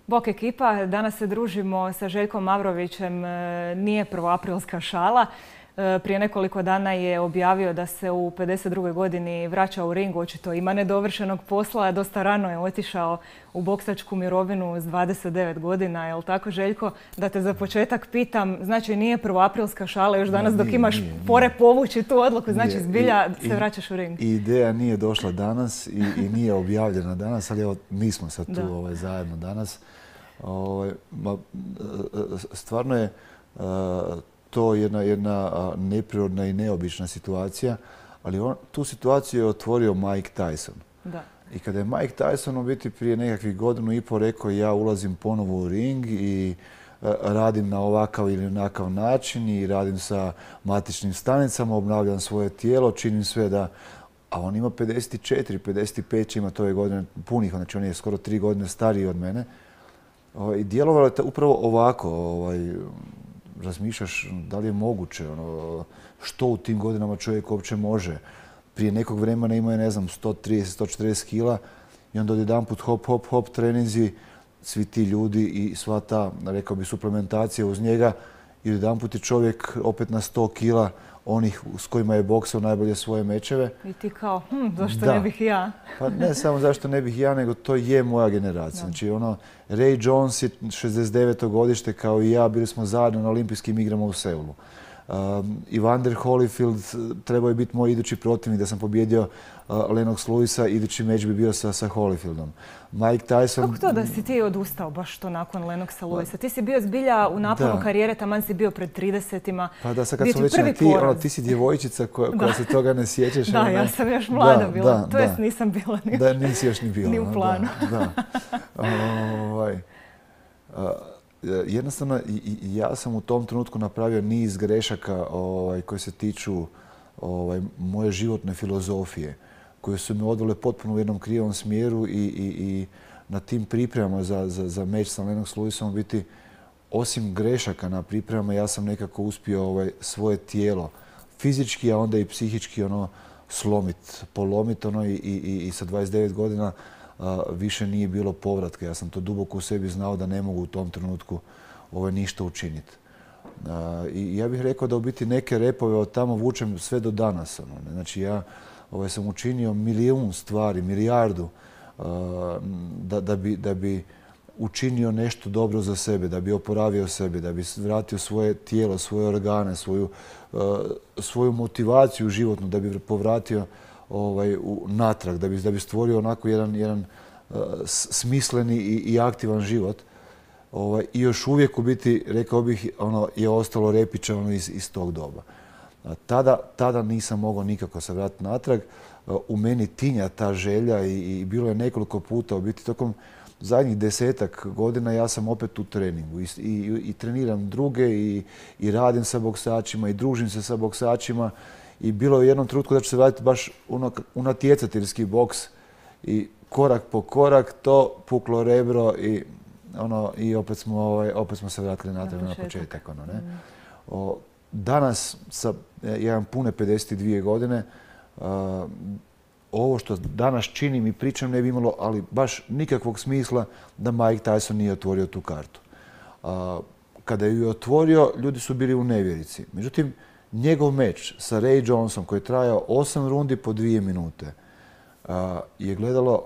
Bok ekipa, danas se družimo sa Željkom Mavrovićem, nije prvoaprilska šala. Prije nekoliko dana je objavio da se u 52. godini vraća u ring, očito ima nedovršenog posla, dosta rano je otišao u boksačku mirovinu s 29 godina. Je li tako, Željko? Da te za početak pitam, znači nije prvoaprilska šala još danas dok imaš pore povući tu odluku, znači zbilja se vraćaš u ring. I ideja nije došla danas i nije objavljena danas, ali evo mi smo sad tu zajedno danas. Stvarno je to jedna neprirodna i neobična situacija, ali tu situaciju je otvorio Mike Tyson. Da. I kada je Mike Tyson u biti prije nekakvih godinu i pol rekao ja ulazim ponovo u ring i radim na ovakav ili onakav način i radim sa matičnim stanicama, obnavljam svoje tijelo, činim sve da... A on ima 54, 55 će imati ove godine punih, znači on je skoro 3 godine stariji od mene. I djelovalo je upravo ovako, razmišljaš da li je moguće, što u tim godinama čovjek uopće može. Prije nekog vremena imao je, ne znam, 130, 140 kila i onda odjedanput hop, hop, hop, treninzi, svi ti ljudi i sva ta, rekao bi, suplementacija uz njega i odjedanput je čovjek opet na 100 kila onih s kojima je boksao najbolje svoje mečeve. I ti kao, zašto ne bih ja? Pa ne samo zašto ne bih ja, nego to je moja generacija. Znači, Ray Jones je 69. godište kao i ja, bili smo zajedno na olimpijskim igrama u Seulu. Evander Holyfield trebao je biti moj idući protivnik, da sam pobjedio Lennox Lewisa, idući meč bi bio sa Holyfieldom. Mike Tyson... Kako to da si ti odustao baš to nakon Lennoxa Lewisa? Ti si bio zbilja u naponu karijere, taman si bio pred 30-ima. Pa da, sad kad smo već ti si djevojčica koja se toga ne sjećaš. Da, ja sam još mlada bila, to jest nisam bila ni da, nisi još ni bila. Ni u planu. Jednostavno, ja sam u tom trenutku napravio niz grešaka koje se tiču moje životne filozofije, koje su me odvele potpuno u jednom krivom smjeru i na tim pripremama za meč sa Lennox Lewisom biti, osim grešaka na pripremama, ja sam nekako uspio svoje tijelo fizički, a onda i psihički slomit, polomit i sa 29 godina više nije bilo povratka. Ja sam to duboko u sebi znao da ne mogu u tom trenutku ništa učiniti. I ja bih rekao da u biti neke repove od tamo vučem sve do danas. Znači ja sam učinio milijun stvari, milijardu da bi učinio nešto dobro za sebe, da bi oporavio sebe, da bi vratio svoje tijelo, svoje organe, svoju motivaciju životnu, da bi povratio natrag, da bi stvorio onako jedan smisleni i aktivan život. I još uvijek u biti, rekao bih, je ostalo repiće iz tog doba. Tada nisam mogao nikako se vratiti natrag. U meni tinja ta želja i bilo je nekoliko puta u biti tokom zadnjih 10-ak godina ja sam opet u treningu i treniram druge i radim sa boksačima i družim se sa boksačima. I bilo je u jednom trenutku da ću se vratiti baš u natjecateljski boks i korak po korak to puklo rebro i opet smo se vratili natrag na početak. Danas, ja imam pune 52 godine, ovo što danas činim i pričam ne bi imalo, ali baš nikakvog smisla da Mike Tyson nije otvorio tu kartu. Kada ju je otvorio, ljudi su bili u nevjerici. Međutim, njegov meč sa Ray Jonesom koji je trajao 8 rundi po 2 minute je gledalo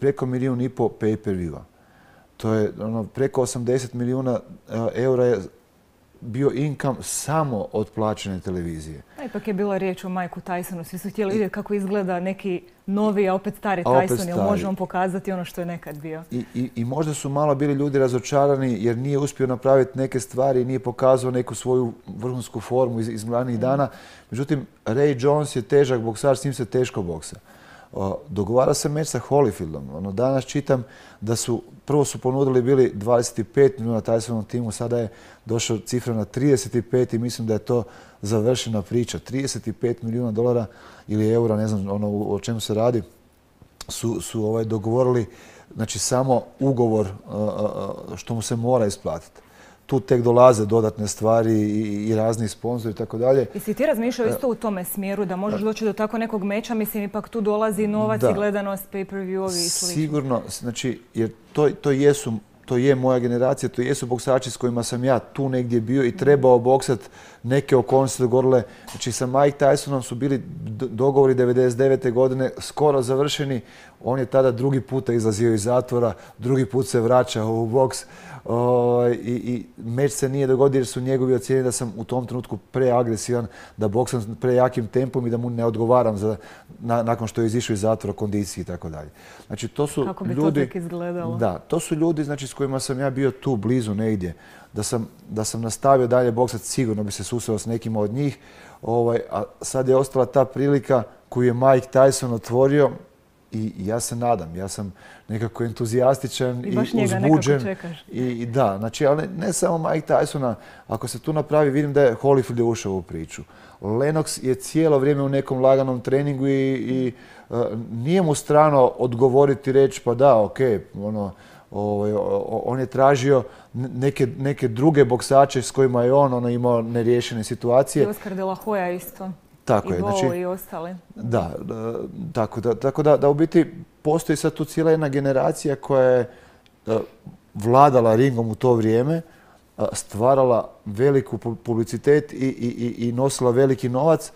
preko 1,5 milijuna pay-per-viewa. To je preko 80 milijuna eura je bio income samo od plaćene televizije. Ipak je bila riječ o Mikeu Tysonu. Svi su htjeli vidjeti kako izgleda neki novi, a opet stari Tyson. Jel može on pokazati ono što je nekad bio? I možda su malo bili ljudi razočarani jer nije uspio napraviti neke stvari, nije pokazao neku svoju vrhunsku formu iz mlanih dana. Međutim, Ray Jones je težak boksač, s njim se teško boksa. Dogovara se meč sa Holyfieldom. Danas čitam da prvo su ponudili bili 25 milijuna Tysonovom timu, sada je došla cifra na 35 i mislim da je to završena priča. 35 milijuna dolara ili eura, ne znam o čemu se radi, su dogovorili, znači samo ugovor što mu se mora isplatiti. Tu tek dolaze dodatne stvari i razni sponzori i tako dalje. Jesi ti razmišljao isto u tome smjeru da možeš doći do tako nekog meča? Mislim, ipak tu dolazi novac i gledanost, pay-per-view-ovi i slično. Sigurno, znači, jer to jesu to je moja generacija, to jesu boksači s kojima sam ja tu negdje bio i trebao boksat, neke okolnosti dogovorile. Znači sa Mike Tysonom su bili dogovori 99. godine skoro završeni. On je tada drugi puta izlazio iz zatvora, drugi put se vraćao u boks. I meč se nije dogodio jer su njegovi ocijenili da sam u tom trenutku preagresivan, da boksam prejakim tempom i da mu ne odgovaram nakon što je izišao iz zatvora, kondiciji i tako dalje. Znači to su kako bi ljudi, to tek izgledalo? Da, to su ljudi znači, s kojima sam ja bio tu blizu negdje. Da sam nastavio dalje boksat, sigurno bi se susreo s nekima od njih. A sad je ostala ta prilika koju je Mike Tyson otvorio. I ja se nadam, ja sam nekako entuzijastičan i uzbuđen. I da, znači, ali ne samo Mike Tysona, ako se tu napravi, vidim da je Holyfield ušao u priču. Lennox je cijelo vrijeme u nekom laganom treningu i nije mu strano odgovoriti i reći pa da, okej, on je tražio neke druge boksače s kojima je on imao neriješene situacije. I Oscar de la Hoya isto. Tako je, znači, i ostali. Da, tako da u biti postoji sad tu cijela jedna generacija koja je vladala ringom u to vrijeme, stvarala veliku publicitet i nosila veliki novac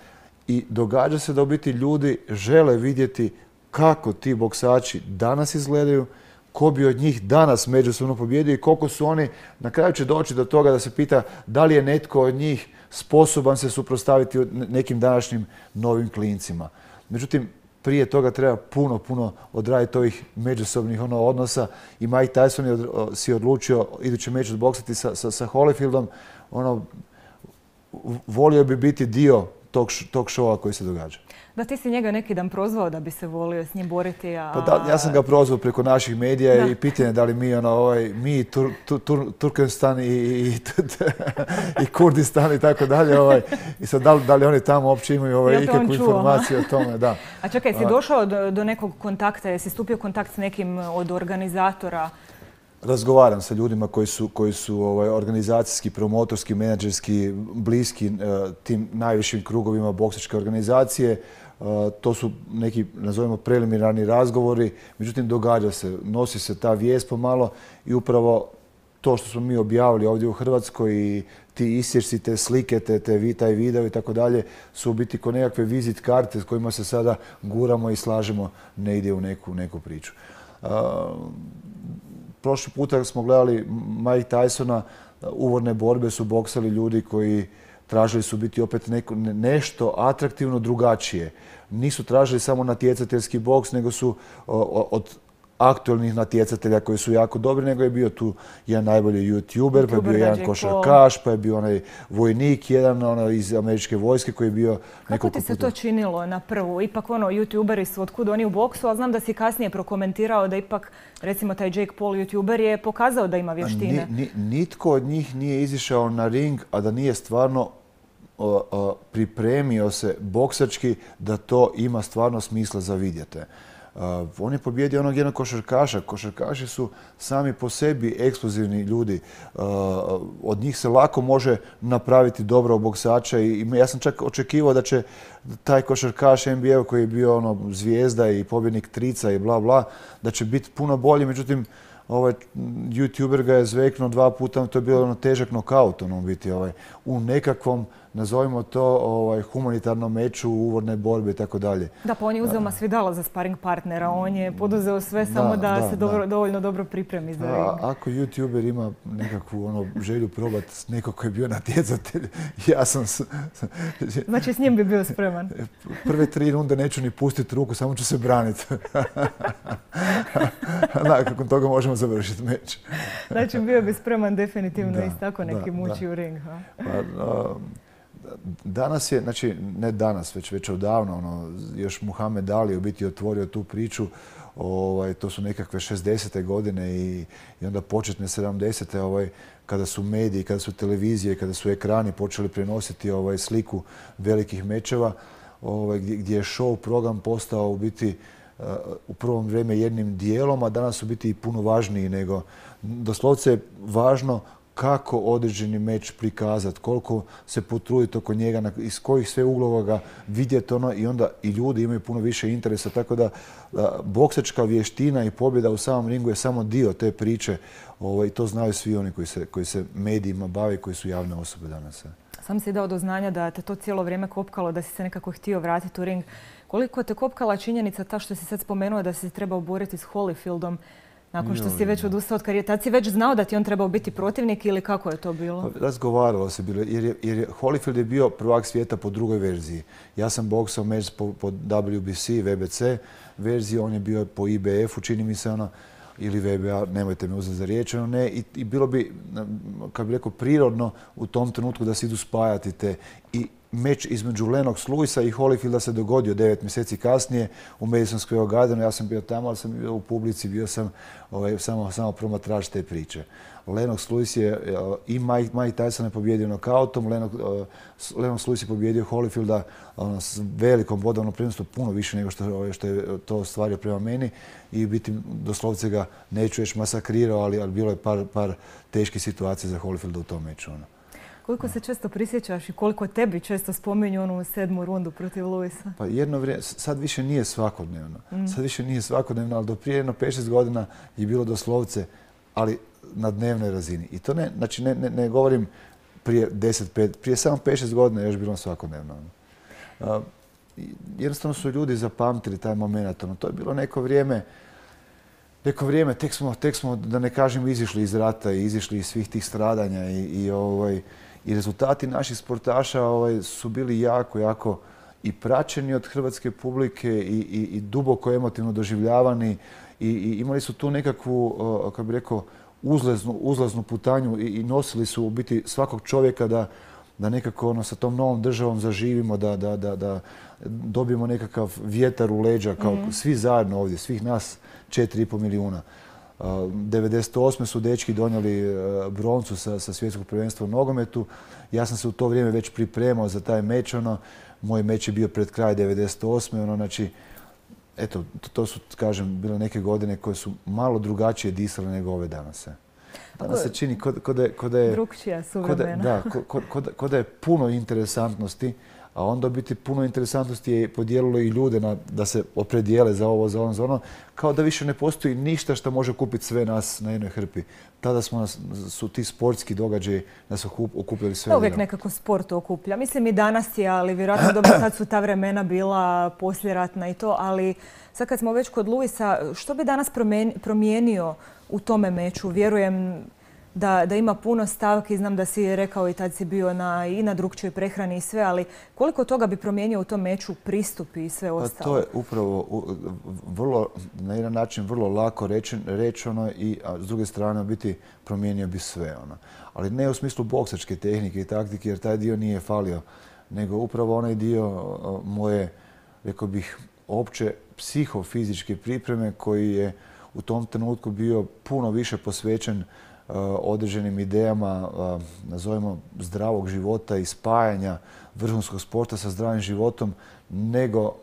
i događa se da u biti ljudi žele vidjeti kako ti boksači danas izgledaju, ko bi od njih danas međusobno pobjedio i koliko su oni, na kraju će doći do toga da se pita da li je netko od njih sposoban se suprotstaviti nekim današnjim novim klincima. Međutim, prije toga treba puno odraditi ovih međusobnih odnosa i Mike Tyson je si odlučio idući meč odboksati sa Holyfieldom. Volio bi biti dio tog šova koji se događa. Da, ti si njega neki dan prozvao da bi se volio s njim boriti, Pa da, ja sam ga prozvao preko naših medija i pitanje da li mi Turkestan i Kurdistan i tako dalje. I sad da li oni tamo uopće imaju ikakvu informaciju o tome. Da. A čekaj, si došao do nekog kontakta, jesi stupio u kontakt s nekim od organizatora? Razgovaram sa ljudima koji su organizacijski, promotorski, menadžerski bliski tim najvišim krugovima boksačke organizacije. To su neki, nazovimo, preliminarni razgovori. Međutim, događa se, nosi se ta vijest pomalo i upravo to što smo mi objavili ovdje u Hrvatskoj i ti isječci, te slike, taj video i tako dalje su u biti ko nekakve vizit karte s kojima se sada guramo i slažemo negdje u neku priču. Prošli puta smo gledali Mike Tysona, uvodne borbe su boksali ljudi koji tražili su biti opet nešto atraktivno drugačije. Nisu tražili samo natjecateljski boks, nego su od aktualnih natjecatelja koji su jako dobri, nego je bio tu jedan najbolji YouTuber, pa je bio jedan košarkaš, pa je bio onaj vojnik, jedan iz američke vojske koji je bio Kako ti se to činilo na prvu? Ipak YouTuberi su otkud oni u boksu, ali znam da si kasnije prokomentirao da ipak, recimo taj Jake Paul YouTuber je pokazao da ima vještine. Nitko od njih nije izišao na ring, a da nije stvarno pripremio se boksački da to ima stvarno smisla za vidjeti. On je pobjedio onog jednog košarkaša. Košarkaši su sami po sebi eksplozivni ljudi. Od njih se lako može napraviti dobrog boksača i ja sam čak očekivao da će taj košarkaš NBA koji je bio zvijezda i pobjednik trica i bla bla, da će biti puno bolji. Međutim, YouTuber ga je zveknuo 2 puta, to je bilo težak nokaut biti u nekakvom, nazovimo to, humanitarnom meču, uvodne borbe i tako dalje. Da, pa on je uzeo Masvidala za sparing partnera, on je poduzeo sve samo da se dovoljno dobro pripremi za ring. Ako YouTuber ima nekakvu želju probati s nekog koji je bio natjecatelj, ja sam... Znači s njim bi bio spreman? Prve 3 runde neću ni pustiti ruku, samo ću se braniti. Nakon toga možemo završiti meč. Znači bio bi spreman definitivno i tako neki muči u ring. Danas je, znači ne danas, već odavno, još Muhammed Ali u biti otvorio tu priču. To su nekakve 60. godine i onda početne 70. Kada su mediji, kada su televizije, kada su ekrani počeli prenositi sliku velikih mečeva, gdje je show program postao u biti u prvo vrijeme jednim dijelom, a danas u biti i puno važniji nego. Doslovce je važno kako određeni meč prikazati, koliko se potruditi oko njega, iz kojih sve uglova ga vidjeti i onda i ljudi imaju puno više interesa. Tako da boksačka vještina i pobjeda u samom ringu je samo dio te priče. To znaju svi oni koji se medijima bave i koji su javne osobe danas. Sam si dao do znanja da te to cijelo vrijeme kopkalo, da si se nekako htio vratiti u ring. Koliko te kopkala činjenica ta što si sad spomenuo da si se trebao boriti s Holyfieldom nakon što si već odustao od karijere? Tad si već znao da ti on trebao biti protivnik ili kako je to bilo? Razgovaralo se bilo, jer Holyfield je bio prvak svijeta po drugoj verziji. Ja sam boksao meč po WBC, WBC verziji, on je bio po IBF-u, čini mi se ili VBA, nemojte me uzeti za riječ, ne, i bilo bi, kako bi rekao, prirodno u tom trenutku da se idu spajati te. I meč između Lennox Lewisa i Holyfielda se dogodio 9 mjeseci kasnije u Madison Square Gardenu. Ja sam bio tamo, ali sam bio u publici, bio sam samo promatrač te priče. Lennox Lewis je i Mike Tyson je pobjedio nokautom, Lennox Lewis je pobjedio Holyfielda s velikom bodovnom prednošću, puno više nego što je to ostvario prema meni i biti doslovce ga, neću reći masakrirao, ali bilo je par teških situacija za Holyfielda u tom meču. Koliko se često prisjećaš i koliko tebi često spominju onu 7. rundu protiv Lewisa? Pa jedno vrijeme, sad više nije svakodnevno. Ali do prije 5-6 godina je bilo doslovce, ali na dnevnoj razini. I to ne govorim prije 10-5, prije samo 5-6 godina je još bilo svakodnevno. Jednostavno su ljudi zapamtili taj moment. To je bilo neko vrijeme, tek smo, da ne kažem, izišli iz rata i izišli iz svih tih stradanja i rezultati naših sportaša su bili jako i praćeni od hrvatske publike i duboko emotivno doživljavani i imali su tu nekakvu, kako bih rekao, uzlaznu putanju i nosili su u biti svakog čovjeka da nekako sa tom novom državom zaživimo, da dobijemo nekakav vjetar u leđa, kao svi zajedno ovdje, svih nas 4,5 milijuna. 1998. su dečki donijeli broncu sa svjetskog prvenstva u nogometu. Ja sam se u to vrijeme već pripremao za taj meč. Moj meč je bio pred kraj 1998. Znači, eto, to su, kažem, bile neke godine koje su malo drugačije disale nego ove danas. Danas se čini ko da je... Drukčija suvremena. Da, ko da je puno interesantnosti, a onda biti puno interesantnosti je podijelilo i ljude da se opredijele za ovo, za ono, kao da više ne postoji ništa što može kupiti sve nas na jednoj hrpi. Tada su ti sportski događaji nas okupljali sve. Uvijek nekako sport okuplja. Mislim i danas je, ali vjerojatno dobro sad su ta vremena bila poslijeratna i to, ali sad kad smo već kod Lewisa, što bi danas promijenio u tome meču? Vjerujem da ima puno stavki, znam da si rekao i tad si bio i na drukčijoj prehrani i sve, ali koliko toga bi promijenio u tom meču pristup i sve ostalo? To je upravo na jedan način vrlo lako rečeno a s druge strane biti promijenio bi sve. Ali ne u smislu boksačke tehnike i taktike, jer taj dio nije falio, nego upravo onaj dio moje, rekao bih, opće psihofizičke pripreme koji je u tom trenutku bio puno više posvećen određenim idejama, nazovimo, zdravog života i spajanja vrhunskog sporta sa zdravim životom, nego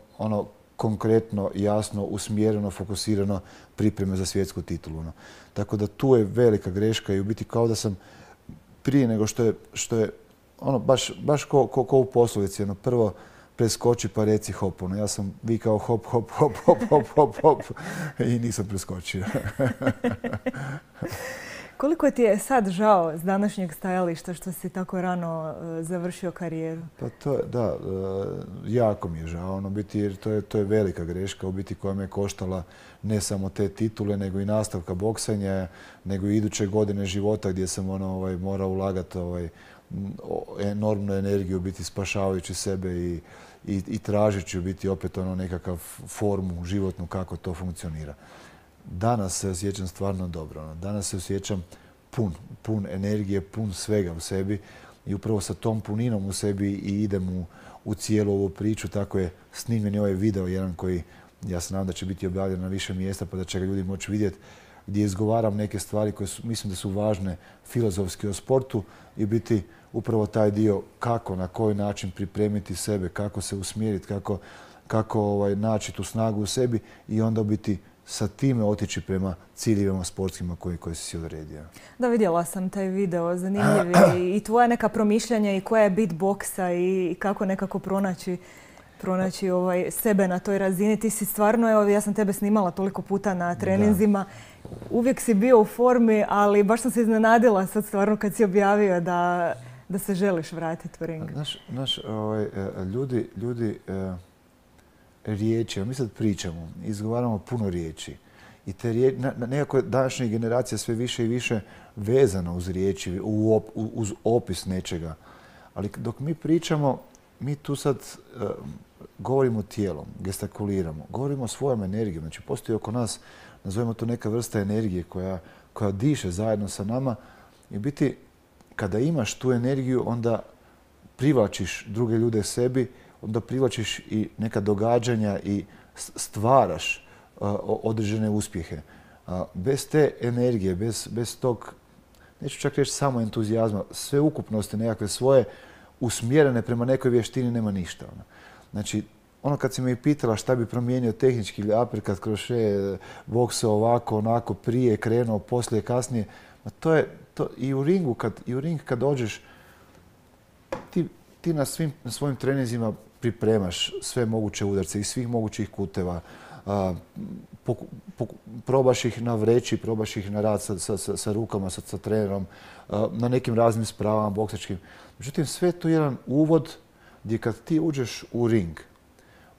konkretno, jasno, usmjereno, fokusirano pripreme za svjetsku titulu. Tako da tu je velika greška i u biti kao da sam prije nego što je baš ko u poslovici, prvo preskoči pa reci hop. Ja sam vikao hop, hop, hop, hop, hop, hop, hop i nisam preskočio. Koliko ti je sad žao s današnjeg stajališta što si tako rano završio karijeru? Pa jako mi je žao, jer to je velika greška u biti koja me koštala ne samo te titule, nego i nastavka boksanja, nego i iduće godine života gdje sam morao ulagati enormnu energiju, biti spašavajući sebe i tražeći biti opet nekakav formu životnu kako to funkcionira. Danas se osjećam stvarno dobro. Danas se osjećam pun energije, pun svega u sebi i upravo sa tom puninom u sebi i idem u cijelu ovu priču. Tako je snimljen ovaj video, jedan koji ja se nadam da će biti objavljen na više mjesta pa da će ga ljudi moći vidjeti, gdje izgovaram neke stvari koje mislim da su važne filozofski o sportu i biti upravo taj dio kako, na koji način pripremiti sebe, kako se usmjeriti, kako naći tu snagu u sebi i onda biti sa time otići prema ciljevima sportskima koje si odredio. Da, vidjela sam taj video, zanimljiv je i tvoja neka promišljanja i koja je bit boksa i kako nekako pronaći sebe na toj razini. Ti si stvarno, evo ja sam tebe snimala toliko puta na treninzima, uvijek si bio u formi, ali baš sam se iznenadila sad stvarno kad si objavio da se želiš vratiti u ring. Ljudi riječi, mi sad pričamo, izgovaramo puno riječi. I te riječi, nekako današnja generacija sve više i više vezana uz riječi, uz opis nečega. Ali dok mi pričamo, mi tu sad govorimo tijelom, gestikuliramo, govorimo svojom energijom. Znači, postoji oko nas, nazovemo to neka vrsta energije koja diše zajedno sa nama. I biti, kada imaš tu energiju, onda privlačiš druge ljude sebi, onda privlačiš i neka događanja i stvaraš određene uspjehe. Bez te energije, bez tog, neću čak reći samo entuzijazma, sve ukupnosti nekakve svoje usmjerene prema nekoj vještini nema ništa. Znači, kad si me i pitala šta bi promijenio tehnički ili aperkat, kroše, bokse ovako, onako, prije, krenuo, poslije, kasnije, to je i u ring kad dođeš, ti na svojim treninzima pripremaš sve moguće udarce iz svih mogućih kuteva. Probaš ih na vreći, probaš ih na rad sa rukama, sa trenerom, na nekim raznim spravama boksačkim. Međutim, sve je to jedan uvod gdje kad ti uđeš u ring,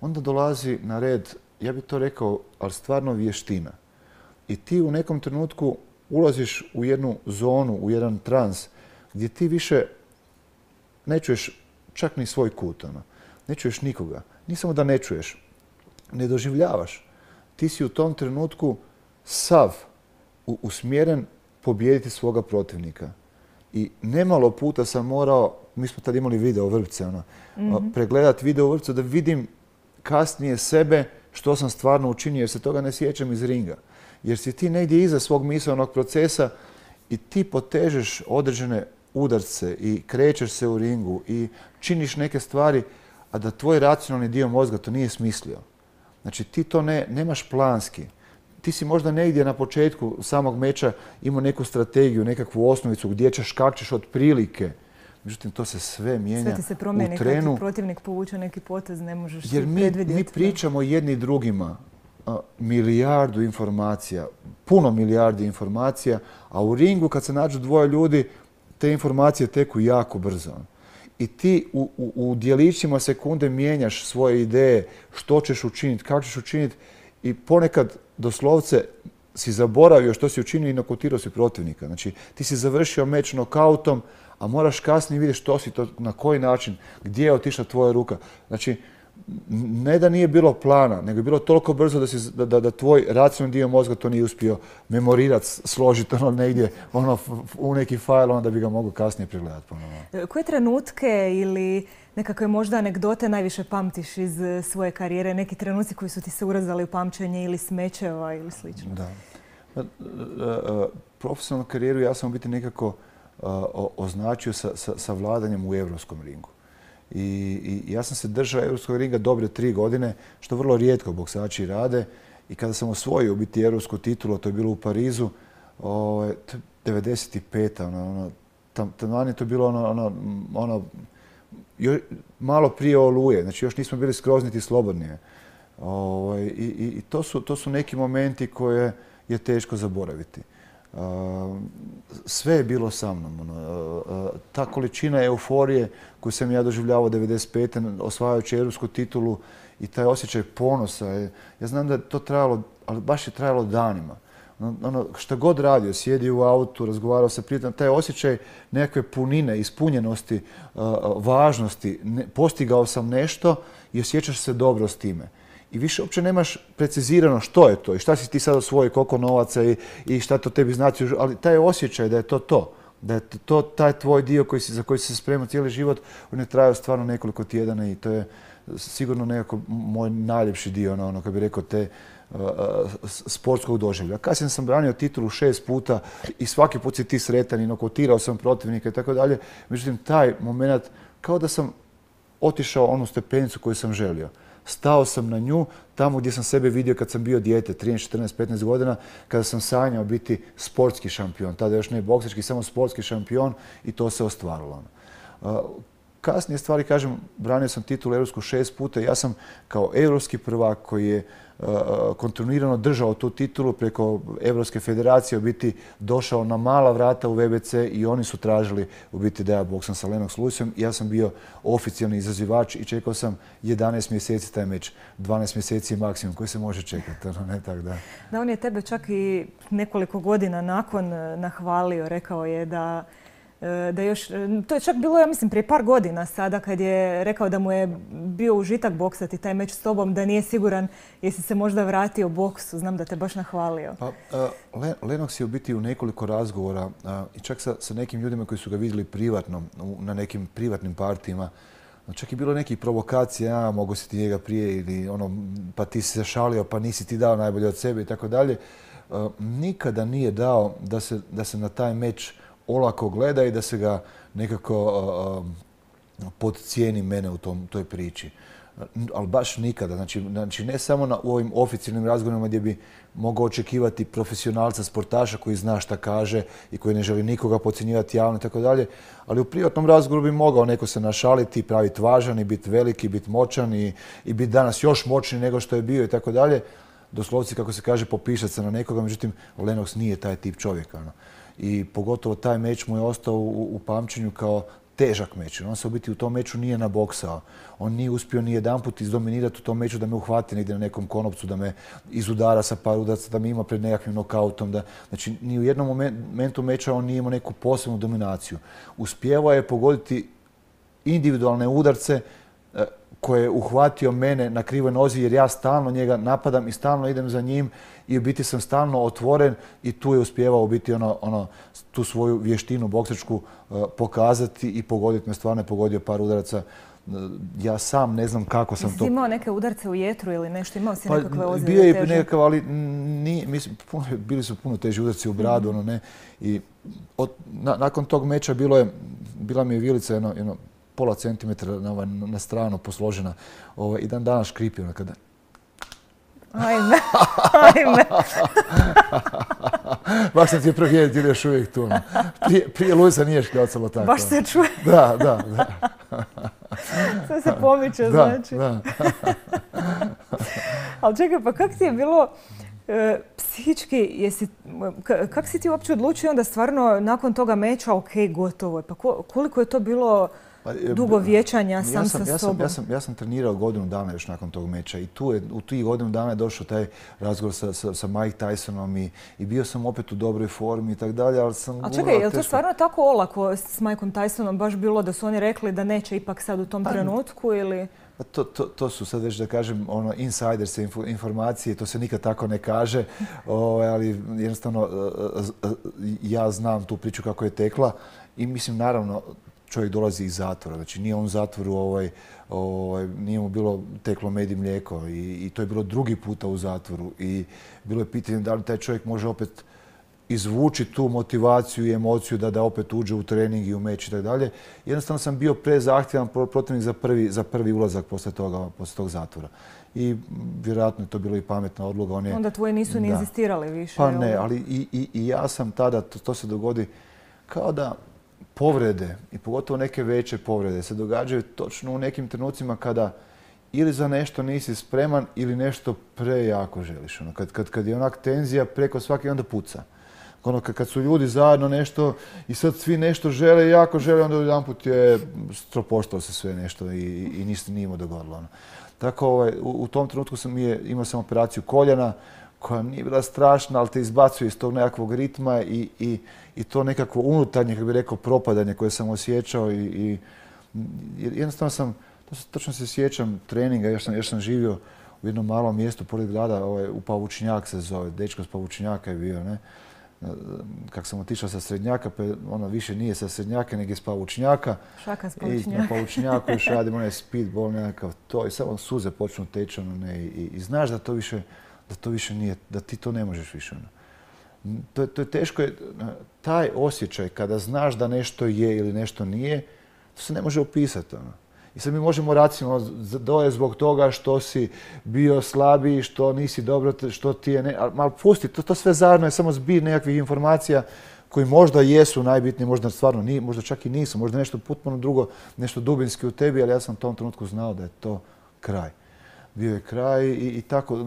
onda dolazi na red, ja bih to rekao, ali stvarno vještina. I ti u nekom trenutku ulaziš u jednu zonu, u jedan trans, gdje ti više ne čuješ čak ni svoj kut. Ne čuješ nikoga. Nije samo da ne čuješ, ne doživljavaš. Ti si u tom trenutku sav usmjeren pobijediti svoga protivnika. I nemalo puta sam morao, mi smo tad imali video vrpce, pregledati video vrpce da vidim kasnije sebe što sam stvarno učinio, jer se toga ne sjećam iz ringa. Jer si ti negdje iza svog misaonog procesa i ti potežeš određene udarce i krećeš se u ringu i činiš neke stvari, a da tvoj racionalni dio mozga to nije smislio. Znači ti to nemaš planski. Ti si možda negdje na početku samog meča imao neku strategiju, nekakvu osnovicu gdje ćeš, kak ćeš otprilike. Međutim, to se sve mijenja sve ti se promijeni, u trenu. kad ti protivnik povuče neki potez, ne možeš predvidjeti. Jer mi pričamo jedni drugima milijardu informacija, puno milijardi informacija, a u ringu kad se nađu dvoje ljudi, te informacije teku jako brzo. I ti u djelićima sekunde mijenjaš svoje ideje, što ćeš učiniti, kako ćeš učiniti i ponekad doslovce si zaboravio što si učinio i nokautirao si protivnika. Znači, ti si završio meč nokautom, a moraš kasnije vidjeti što si to, na koji način, gdje je otišla tvoja ruka. Znači, ne da nije bilo plana, nego je bilo toliko brzo da tvoj racionalni dio mozga to nije uspio memorirati, složiti negdje u neki fajl, da bi ga mogao kasnije pregledati ponovno. Koje trenutke ili nekakve možda anegdote najviše pamtiš iz svoje karijere? Neki trenuci koji su ti se urezali u pamćenje ili smečeva ili slično? Da. Profesionalnu karijeru ja sam u biti nekako označio sa vladanjem u europskom ringu. I ja sam se držao europskog ringa dobre 3 godine, što vrlo rijetko boksači rade. I kada sam osvojio biti europsku titulu, to je bilo u Parizu, 95. Taman to je bilo malo prije Oluje, znači još nismo bili skroz niti slobodni. I to su neki momenti koje je teško zaboraviti. Sve je bilo sa mnom. Ta količina euforije koju sam ja doživljavao 95. osvajajući europsku titulu i taj osjećaj ponosa. Ja znam da je to trajalo, ali baš je trajalo danima. Šta god radio, sjedio u autu, razgovarao sa prijateljima, taj osjećaj nekakve punine, ispunjenosti, važnosti, postigao sam nešto i osjećaš se dobro s time. I više uopće nemaš precizirano što je to i šta si ti sad osvojio, koliko novaca i šta to tebi znači, ali taj osjećaj da je to. Da je to taj tvoj dio za koji si se spremao cijeli život, on je trajao stvarno nekoliko tjedana i to je sigurno nekako moj najljepši dio, kad bih rekao, te sportskog doživlja. Kasnije sam branio titulu 6 puta i svaki put si ti sretan i nokautirao sam protivnika i tako dalje. Međutim, taj moment, kao da sam otišao onu stepenicu koju sam želio. stao sam na nju tamo gdje sam sebe vidio kad sam bio dijete, 13, 14, 15 godina, kada sam sanjao biti sportski šampion. Tada još ne boksački, samo sportski šampion i to se ostvarilo. Kasnije stvari, kažem, branio sam titulu europsku 6 puta. Ja sam kao europski prvak koji je kontinuirano držao tu titulu preko Europske federacije, u biti došao na mala vrata u VBC i oni su tražili u biti da ja boksam sa Lennox Lewisom. Ja sam bio oficijalni izazivač i čekao sam 11 mjeseci taj meč. 12 mjeseci je maksimum koji se može čekati. Ne, tak da. Da, on je tebe čak i nekoliko godina nakon nahvalio, rekao je da još, to je čak bilo, ja mislim, prije par godina sada kad je rekao da mu je bio užitak boksati taj meč s tobom, da nije siguran jesi se možda vratio boksu. Znam da te baš nahvalio. Lennox je u biti u nekoliko razgovora i čak sa nekim ljudima koji su ga vidjeli privatno, na nekim privatnim partijima. Čak je bilo nekih provokacija, mogu si ti njega prije ili pa ti si se šalio, pa nisi ti dao najbolje od sebe i tako dalje. Nikada nije dao da se na taj meč olako gleda i da se ga nekako podcijeni mene u toj priči. Ali baš nikada. Znači ne samo u ovim oficijalnim razgovorima gdje bi mogao očekivati profesionalca, sportaša koji zna šta kaže i koji ne želi nikoga podcjenjivati javno i tako dalje, ali u privatnom razgovoru bi mogao neko se našaliti, praviti važan i biti veliki, biti moćan i biti danas još moćniji nego što je bio i tako dalje. Doslovci, kako se kaže, popišat se na nekoga, međutim, Lennox nije taj tip čovjeka. I pogotovo taj meč mu je ostao u pamćenju kao težak meč. On se u biti u tom meču nije naboksao. On nije uspio ni jedanput izdominirati u tom meču da me uhvati negdje na nekom konopcu, da me izudara sa par udaraca, da me ima pred nekakvim nokautom. Znači, ni u jednom momentu meča on nije imao neku posebnu dominaciju. Uspijevao je pogoditi individualne udarce koje je uhvatio mene na krivoj nozi jer ja stalno njega napadam i stalno idem za njim i u biti sam stalno otvoren i tu je uspijevao u biti tu svoju vještinu boksačku pokazati i pogoditi me. Stvarno je pogodio par udaraca. Ja sam ne znam kako sam to... Jesi imao neke udarce u jetru ili nešto? Imao si nekakve ozljede teže? Bio je nekakav, ali bili su puno teži udarci u bradu. Nakon tog meča bila mi je vilica jedno pola centimetra na stranu posložena i dan danas škripi kada... Ajme. Baš sam ti je prohijediti ili još uvijek tu. Prije Luisa nije škljacalo tako. Baš se čuje. Da. Sve se pomiče, znači. Da. Ali čekaj, pa kako ti je bilo psihički, kako si ti uopće odlučio onda stvarno nakon toga meča, ok, gotovo je. Pa koliko je to bilo dugo vječanja sam sa sobom? Ja sam trenirao godinu dana još nakon tog meča i u tih godinu dana je došao taj razgovor sa Mike Tysonom i bio sam opet u dobroj formi i tako dalje, ali sam... A čekaj, je li to stvarno tako olako s Mikeom Tysonom baš bilo da su oni rekli da neće ipak sad u tom trenutku ili... To su sad već da kažem insiderske informacije, to se nikad tako ne kaže, ali jednostavno ja znam tu priču kako je tekla i mislim naravno čovjek dolazi iz zatvora, znači nije on u zatvoru, nije mu bilo teklo med i mlijeko i to je bilo drugi puta u zatvoru i bilo je pitanje da li taj čovjek može opet izvući tu motivaciju i emociju da opet uđe u trening i u meč i tako dalje. Jednostavno sam bio prezahtjevan protivnik za prvi ulazak poslije tog zatvora. I vjerojatno je to bilo i pametna odluka. Onda tvoji nisu ni inzistirali više? Pa ne, ali i ja sam tada, to se dogodi kao da povrede i pogotovo neke veće povrede se događaju točno u nekim trenucima kada ili za nešto nisi spreman ili nešto prejako želiš. Kad je onak tenzija preko svake onda puca. Kad su ljudi zajedno nešto i sad svi nešto žele, jako žele, onda jedanput je stropoštalo se sve nešto i ništa nije imao dogodilo. Tako u tom trenutku imao sam operaciju koljena koja nije bila strašna, ali te izbacuje iz tog nekakvog ritma i to nekakvo unutarnje, kako bih rekao, propadanje koje sam osjećao i jednostavno točno se sjećam treninga, još sam živio u jednom malom mjestu pored grada, u Pavučnjak se zove, dečko s Pavučnjaka je bio, ne? Kako sam otišao sa Srednjaka, pa više nije sa Srednjaka, nego je s Pavučnjaka. Šaka s Pavučnjaka. I na Pavučnjaku još radim onaj speedball nekakav to i samo suze počnu teći i znaš da to više nije, da ti to ne možeš više. To je teško, taj osjećaj kada znaš da nešto je ili nešto nije, to se ne može opisati. I sad mi možemo racionalno, da je zbog toga što si bio slabiji, što nisi dobro, što ti je ali pusti, to sve zajedno je samo zbir nekakvih informacija koji možda jesu najbitniji, možda stvarno nije, možda čak i nisu, možda nešto potpuno drugo, nešto dubinski u tebi, ali ja sam u tom trenutku znao da je to kraj. Bio je kraj i tako,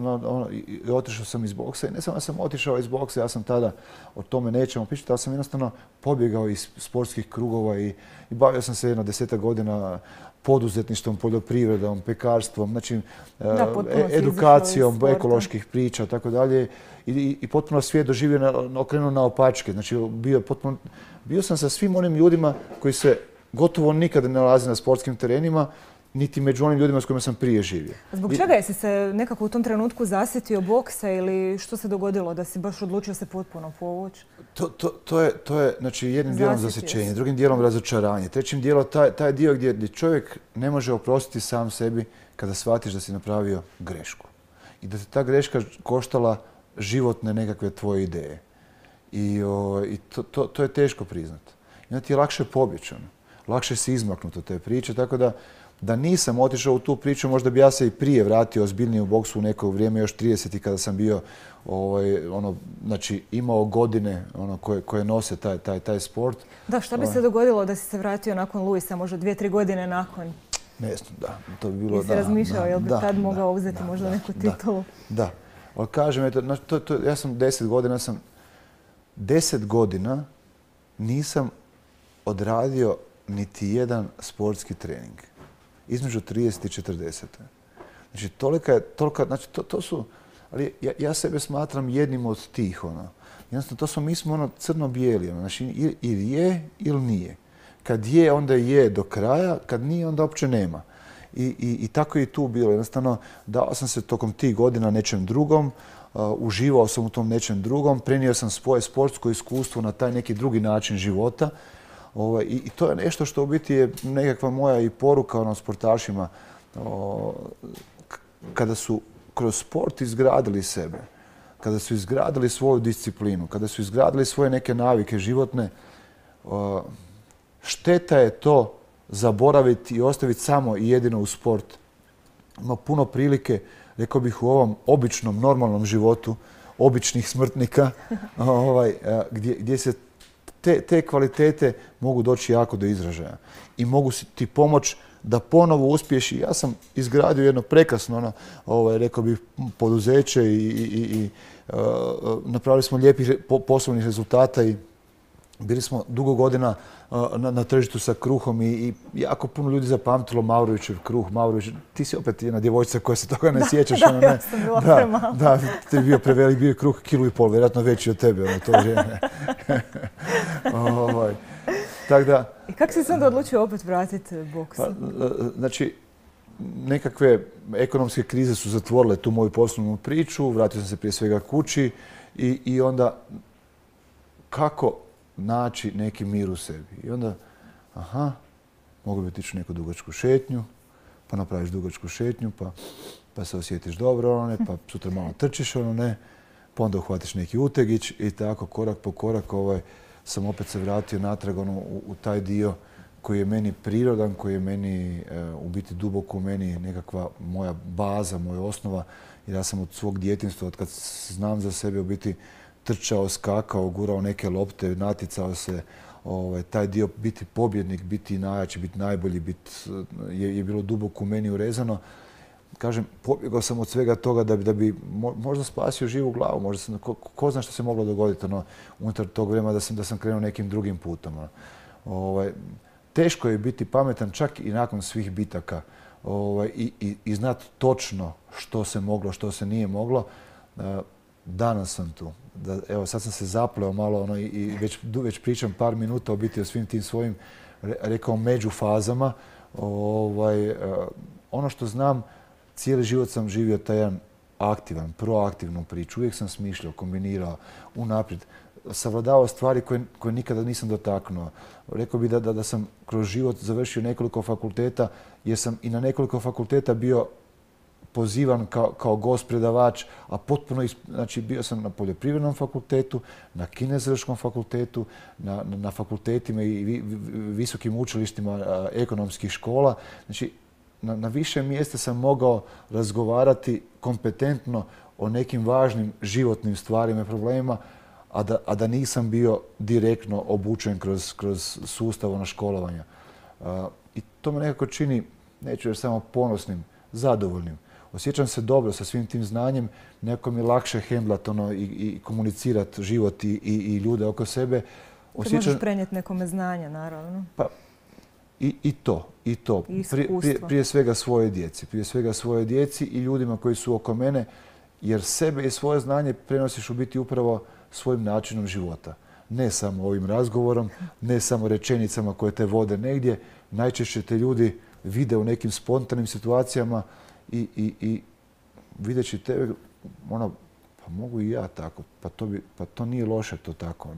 i otišao sam iz boksa i ne samo da sam otišao iz boksa, ja sam tada, o tome nećemo pričati, ali sam jednostavno pobjegao iz sportskih krugova i bavio sam se jedno 10 godina poduzetništvom, poljoprivredom, pekarstvom, znači edukacijom, ekoloških priča, tako dalje. I potpuno svijet doživio, okrenuo naopačke. Znači, bio sam sa svim onim ljudima koji se gotovo nikada ne nalaze na sportskim terenima, niti među onim ljudima s kojima sam prije živio. Zbog čega jesi se nekako u tom trenutku zasjetio boksa ili što se dogodilo da si baš odlučio se potpuno povući? To je znači, jednim dijelom zasjećenje, drugim dijelom razočaranje, trećim dijelom taj dio gdje čovjek ne može oprostiti sam sebi kada shvatiš da si napravio grešku. I da te ta greška koštala životne nekakve tvoje ideje. I to je teško priznati. I onda ti je lakše pobjeći, lakše si izmaknuti od te priče, tako da nisam otišao u tu priču, možda bi ja se i prije vratio ozbiljnije u boksu u neko vrijeme, još 30. kada sam bio, znači imao godine koje nose taj sport. Da, šta bi se dogodilo da si se vratio nakon Luisa, možda 2-3 godine nakon? Ne znam, da. To bi bilo, jesi razmišljao, jel bi tad mogao uzeti možda neku titulu? Da. Ali kažem, ja sam 10 godina nisam odradio niti jedan sportski trening. Između 30 i 40. Znači, znači, to su, ali ja sebe smatram jednim od tih, jednostavno, mi smo crno-bijeli, znači, ili je, ili nije. Kad je, onda je do kraja, kad nije, onda uopće nema. I tako je i tu bilo. Jednostavno, dao sam se tokom tih godina nečem drugom, uživao sam u tom nečem drugom, prenio sam svoje sportsko iskustvo na taj neki drugi način života. I to je nešto što u biti je nekakva moja i poruka sportašima kada su kroz sport izgradili sebe, kada su izgradili svoju disciplinu, kada su izgradili svoje neke navike životne, šteta je to zaboraviti i ostaviti samo i jedino u sport. Ima puno prilike, rekao bih, u ovom običnom, normalnom životu, običnih smrtnika, gdje se te kvalitete mogu doći jako do izražaja i mogu ti pomoći da ponovo uspiješ. Ja sam izgradio jedno prekrasno, rekao bih, poduzeće i napravili smo lijepih poslovnih rezultata i bili smo dugo godina na tržištu sa kruhom i jako puno ljudi zapamtilo Mavrovićev kruh. Mavrović, ti si opet jedna djevojčica koja se toga ne sjećaš. Da, ja sam bila premala. Da, ti je bio prevelik, bio je kruh 1,5 kg, vjerojatno veći od tebe u to vrijeme. I kako si se onda odlučio opet vratiti boksu? Znači, nekakve ekonomske krize su zatvorile tu moju poslovnu priču, vratio sam se prije svega kući i onda kako naći neki mir u sebi. I onda, mogu bi otići u neku dugačku šetnju, pa napraviš dugačku šetnju, pa se osjetiš dobro, pa sutra malo trčiš, pa onda uhvatiš neki utegić i tako korak po korak sam opet se vratio natrag u taj dio koji je meni prirodan, koji je meni u biti duboko u meni nekakva moja baza, moja osnova. Jer ja sam od svog djetinjstva, od kad znam za sebe, u biti trčao, skakao, gurao neke lopte, naticao se. Taj dio biti pobjednik, biti najjači, biti najbolji, je bilo duboko u meni urezano. Kažem, pobjegao sam od svega toga da bi možda spasio živu glavu. Možda ko zna što se moglo dogoditi unutar tog vremena da sam krenuo nekim drugim putom. Teško je biti pametan čak i nakon svih bitaka i znati točno što se moglo, što se nije moglo. Danas sam tu. Evo, sad sam se zapleo malo i već pričam par minuta o biti o svim tim svojim, rekao, međufazama. Ono što znam, cijeli život sam živio taj jedan aktivan, proaktivnu priču. Uvijek sam smišljao, kombinirao, unaprijed. Savladavao stvari koje nikada nisam dotaknuo. Rekao bih da sam kroz život završio nekoliko fakulteta, jer sam i na nekoliko fakulteta bio pozivan kao gost predavač, a potpuno, znači bio sam na poljoprivrednom fakultetu, na kineziološkom fakultetu, na fakultetima i visokim učilištima ekonomskih škola. Znači, na više mjesta sam mogao razgovarati kompetentno o nekim važnim životnim stvarima i problemima, a da nisam bio direktno obučen kroz sustav školovanja. I to me nekako čini, neću reći samo ponosnim, zadovoljnim. Osjećam se dobro sa svim tim znanjem, nekako mi je lakše hendlat i komunicirati život i ljude oko sebe. Ti možeš prenijeti nekome znanje, naravno. Pa, i to. Prije svega svoje djeci i ljudima koji su oko mene, jer sebe i svoje znanje prenosiš u biti upravo svojim načinom života. Ne samo ovim razgovorom, ne samo rečenicama koje te vode negdje. Najčešće te ljudi vide u nekim spontanim situacijama i videći tebe, pa mogu i ja tako, pa to nije loše to tako.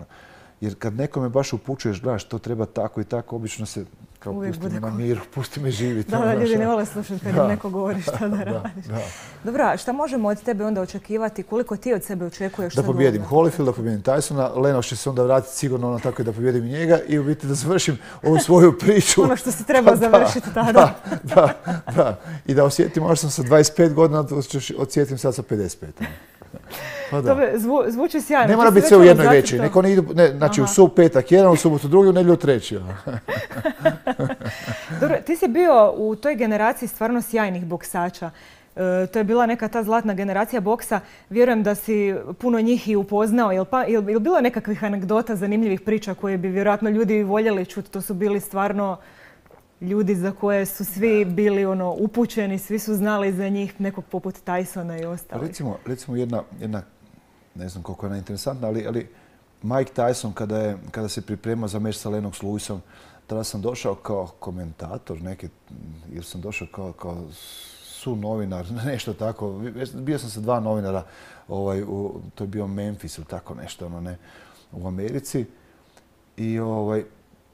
Jer kad nekome baš upućuješ, gledaš, to treba tako i tako, obično se kao pusti me na miru, pusti me živjeti. Da, ljudi ne vole slušati kad im neko govori šta da radiš. Dobro, šta možemo od tebe onda očekivati? Koliko ti od sebe očekuješ? Da pobijedim Holyfield, da pobijedim Tysona. Leno će se onda vratiti sigurno tako da pobijedim i njega i u biti da završim ovu svoju priču. Ono što si trebao završiti tada. Da. I da osjetim, možda sam sa 25 godina, osjetim sad sa 55. Pa to zvuči sjajno. Ne mora biti sve u jednoj večeri. Neko ne idu, znači u petak jedan, u subotu drugi, u nedjelju treći. Dobro, ti si bio u toj generaciji stvarno sjajnih boksača. To je bila neka ta zlatna generacija boksa. Vjerujem da si puno njih i upoznao. Jel bilo nekakvih anegdota, zanimljivih priča koje bi vjerojatno ljudi voljeli čuti? To su bili stvarno ljudi za koje su svi bili upućeni, svi su znali za njih, nekog poput Tysona i ostalih. Recimo jedna, ne znam koliko je ona interesantna, ali Mike Tyson kada se priprema za meč sa Lennox Lewisom, tada sam došao kao komentator jer sam došao kao sunovinar, nešto tako. Bio sam sa 2 novinara, to je bio Memphis ili tako nešto, u Americi. I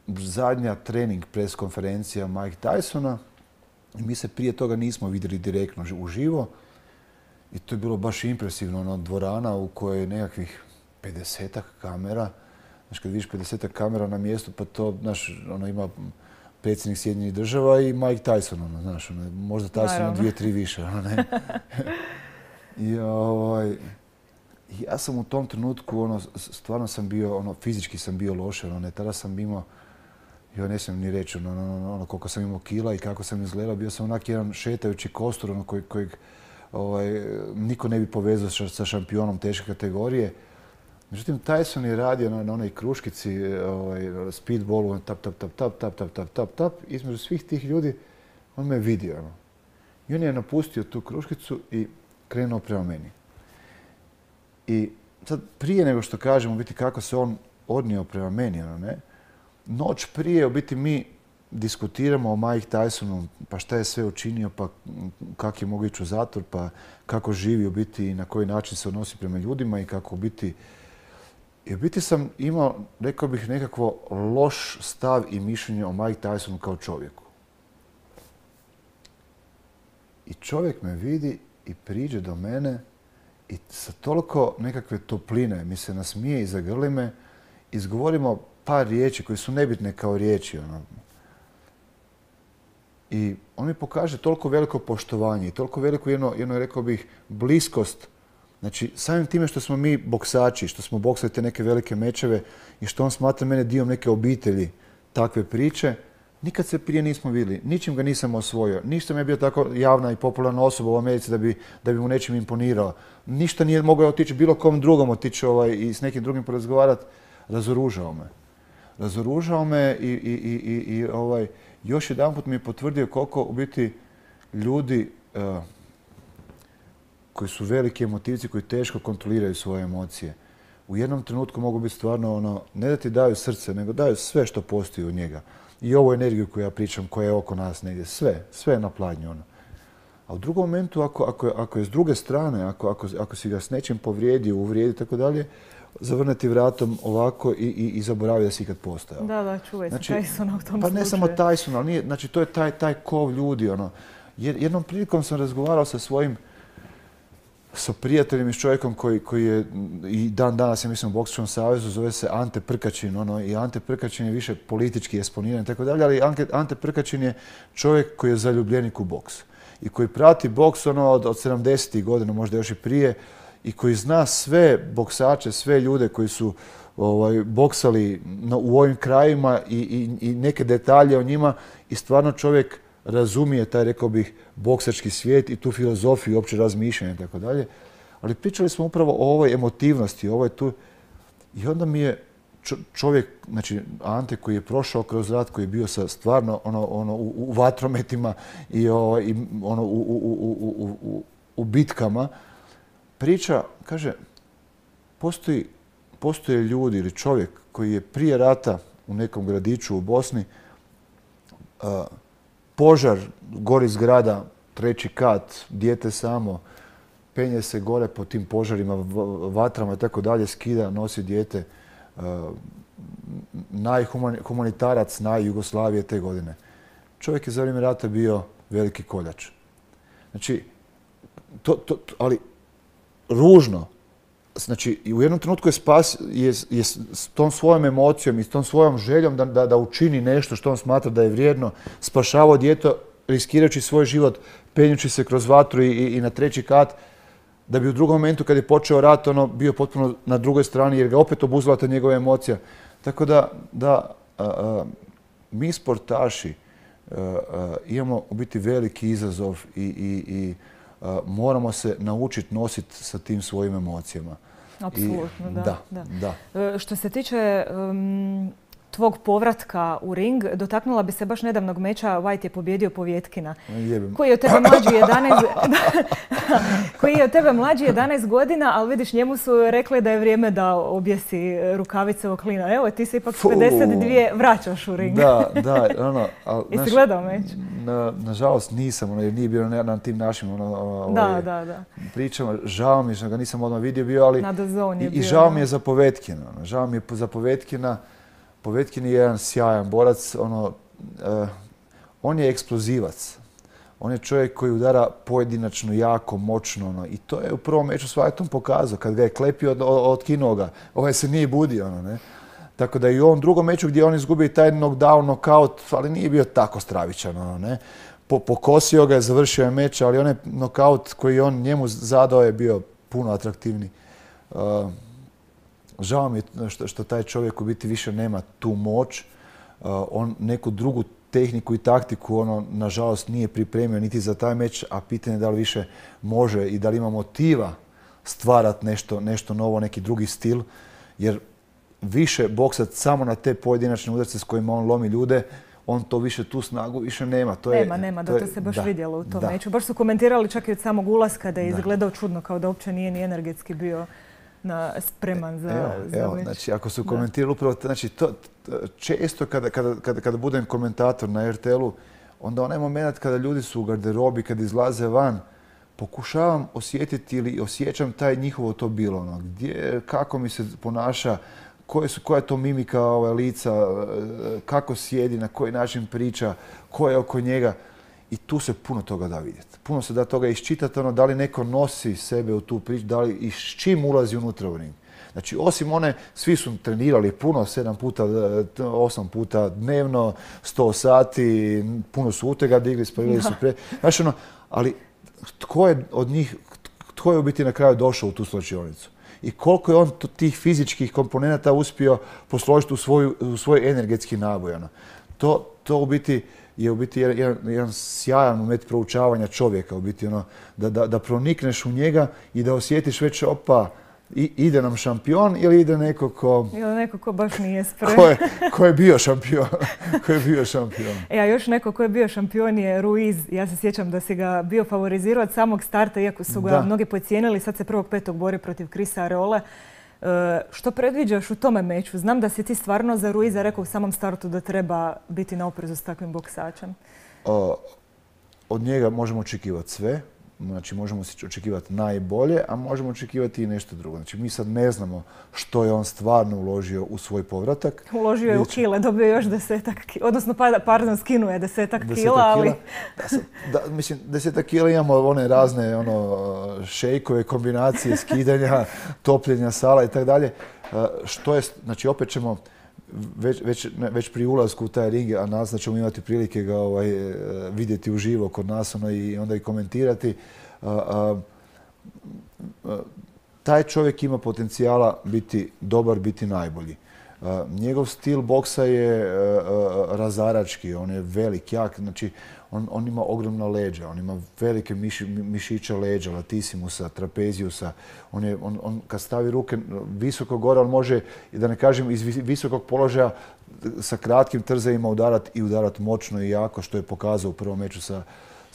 zadnja trening pres konferencija Mike Tysona i mi se prije toga nismo vidjeli direktno uživo i to je bilo baš impresivno, dvorana u kojoj je nekakvih 50-ak kamera. Znaš, kad vidiš 50-ak kamera na mjestu, pa to, znaš, ima predsjednik Sjedinjenih Država i Mike Tyson, znaš, možda Tyson 2-3 više, I ja sam u tom trenutku, stvarno sam bio, fizički sam bio loše, tada sam imao, ja ne smijem ni reći koliko sam imao kila i kako sam izgledao. Bio sam onak jedan šetajući kostur kojeg niko ne bi povezao sa šampionom teške kategorije. Međutim, Tyson je radio na onoj kruškici, speedballu, tap. Između svih tih ljudi on me vidio. I on je napustio tu kruškicu i krenuo prema meni. I sad prije nego što kažem u biti kako se on odnio prema meni, noć prije u biti mi diskutiramo o Mike Tysonu, pa šta je sve učinio, pa kako je mogao ići u zatvor, pa kako živi u biti i na koji način se odnosi prema ljudima i kako u biti... I u biti sam imao, rekao bih, nekakvo loš stav i mišljenje o Mike Tysonu kao čovjeku. I čovjek me vidi i priđe do mene i sa toliko nekakve topline mi se nasmije i zagrli me, izgovorimo par riječi koje su nebitne kao riječi. I on mi pokaže toliko veliko poštovanje i toliko veliku jedno, rekao bih, bliskost. Znači, samim time što smo mi boksači, što smo boksali te neke velike mečeve i što on smatra mene dio neke obitelji takve priče, nikad se prije nismo vidjeli, ničim ga nisam osvojio. Ništa mi je bio tako javna i popularna osoba u Americi da bi mu nečim imponirao. Ništa nije mogao otići bilo kom drugom otići i s nekim drugim porazgovarati. Razoružao me i još jedanput mi je potvrdio koliko u biti ljudi koji su veliki emotivci, koji teško kontroliraju svoje emocije, u jednom trenutku mogu biti stvarno ne da ti daju srce, nego daju sve što postoji u njega. I ovu energiju koju ja pričam, koja je oko nas negdje, sve je na pladnju. A u drugom momentu, ako je s druge strane, ako si ga s nečim povrijedio, uvrijedi i tako dalje, zavrneti vratom ovako i zaboravi da si ikad postojao. Da, čuvaj se Tysona u tom slučaju. Pa ne samo Tysona, ali to je taj kov ljudi. Jednom prilikom sam razgovarao sa prijateljem i s čovjekom koji je i dan danas, ja mislim, u Boksačkom savezu, zove se Ante Prkačin. I Ante Prkačin je više politički eksponiran i tako dalje, ali Ante Prkačin je čovjek koji je zaljubljenik u boks i koji prati boks od 70. godina, možda još i prije, i koji zna sve boksače, sve ljude koji su boksali u ovim krajima i neke detalje o njima, i stvarno čovjek razumije taj, rekao bih, boksački svijet i tu filozofiju, opće razmišljanje i tako dalje. Ali pričali smo upravo o ovoj emotivnosti, i onda mi je čovjek, znači Ante, koji je prošao kroz rat, koji je bio stvarno u vatrometima i u bitkama, priča, kaže, postoje ljudi ili čovjek koji je prije rata u nekom gradiću u Bosni, požar, gori zgrada, 3. kat, dijete samo, penje se gore po tim požarima, vatrama i tako dalje, skida, nosi dijete, najhumanitarac Jugoslavije te godine. Čovjek je za vrijeme rata bio veliki koljač. Znači, ali ružno. Znači, u jednom trenutku je s tom svojom emocijom i s tom svojom željom da učini nešto što on smatra da je vrijedno, spašavao dijete, riskirajući svoj život, penjući se kroz vatru i na 3. kat, da bi u drugom momentu, kad je počeo rat, bio potpuno na drugoj strani, jer ga opet obuzela ta njegova emocija. Tako da mi sportaši imamo u biti veliki izazov i moramo se naučiti nositi sa tim svojim emocijama. Apsolutno, da. Što se tiče tvog povratka u ring, dotaknula bi se baš nedavnog meča. White je pobjedio Povjetkina, koji je od tebe mlađi 11 godina, ali vidiš, njemu su rekli da je vrijeme da objesi rukavice o klina. Evo, ti se ipak 52 vraćaš u ring. Da. Jesi gledao meč? Nažalost nisam, jer nije bio na tim našim pričama. Žao mi je što ga nisam odmah vidio bio, ali i žao mi je za Povjetkina. Povjetkin je jedan sjajan borac, on je eksplozivac. On je čovjek koji udara pojedinačno, jako, moćno. I to je u prvom meču s Whiteom pokazao. Kad ga je klepio, otkinuo ga. Ovaj se nije budio. Tako da i u ovom drugom meču gdje on izgubio taj knockdown, knockout, ali nije bio tako stravičan. Pokosio ga je, završio je meč, ali onaj knockout koji on njemu zadao je bio puno atraktivniji. Žao mi je što taj čovjek u biti više nema tu moć. On neku drugu tehniku i taktiku nažalost nije pripremio niti za taj meč, a pitanje je da li više može i da li ima motiva stvarati nešto novo, neki drugi stil. Jer više boksat samo na te pojedinačne udarce s kojima on lomi ljude, on to više, tu snagu više nema. Nema, da to se baš vidjelo u tom meču. Baš su komentirali čak i od samog ulaska da je izgledao čudno, kao da uopće nije ni energetski bio spreman za meč. Znači, ako su komentirali upravo, znači, često kada budem komentator na RTL-u, onda onaj moment kada ljudi su u garderobi, kada izlaze van, pokušavam osjetiti ili osjećam taj njihovo to bilo. Kako mi se ponaša, koja je to mimika lica, kako sjedi, na koji način priča, ko je oko njega. I tu se puno toga da vidjeti. Puno se da toga iščitati, da li neko nosi sebe u tu priču, da li i s čim ulazi unutra u ring. Znači, osim svi su trenirali puno, 7 puta, 8 puta dnevno, 100 sati, puno su utega digli, spavili su Znači, ali tko je od njih, tko je u biti na kraju došao u tu slačionicu? I koliko je on tih fizičkih komponenata uspio posložiti u svoj energetski naboj. To u biti je jedan sjajan moment proučavanja čovjeka, u biti da pronikneš u njega i da osjetiš već ide nam šampion ili ide neko ko baš nije spreman. Ko je bio šampion. A još neko ko je bio šampion je Ruiz. Ja se sjećam da si ga bio favorizirao od samog starta, iako su ga mnogi podcijenili. Sad se 1.5. bori protiv Chrisa Areole. Što predviđaš u tome meču? Znam da si ti stvarno za Ruiza rekao u samom startu da treba biti na oprezu s takvim boksačem. Od njega možemo očekivati sve. Znači, možemo si očekivati najbolje, a možemo očekivati i nešto drugo. Znači, mi sad ne znamo što je on stvarno uložio u svoj povratak. Uložio je u kile, dobio još 10 kila, odnosno, pardon, skinuo je 10 kila, ali... Mislim, 10 kila imamo one razne šejkove, kombinacije, skidanja, topljenja sala i tako dalje. Što je, znači, opet ćemo već pri ulasku u taj ring, a nas da ćemo imati prilike ga vidjeti uživo kod nas i onda i komentirati. Taj čovjek ima potencijala biti dobar, biti najbolji. Njegov stil boksa je razarački, on je velik, jak, znači on ima ogromna leđa, on ima velike mišiće leđa, latissimusa, trapeziusa. On kad stavi ruke visoko gore, on može, da ne kažem, iz visokog položaja sa kratkim trzajima udarati moćno i jako, što je pokazao u prvom meču sa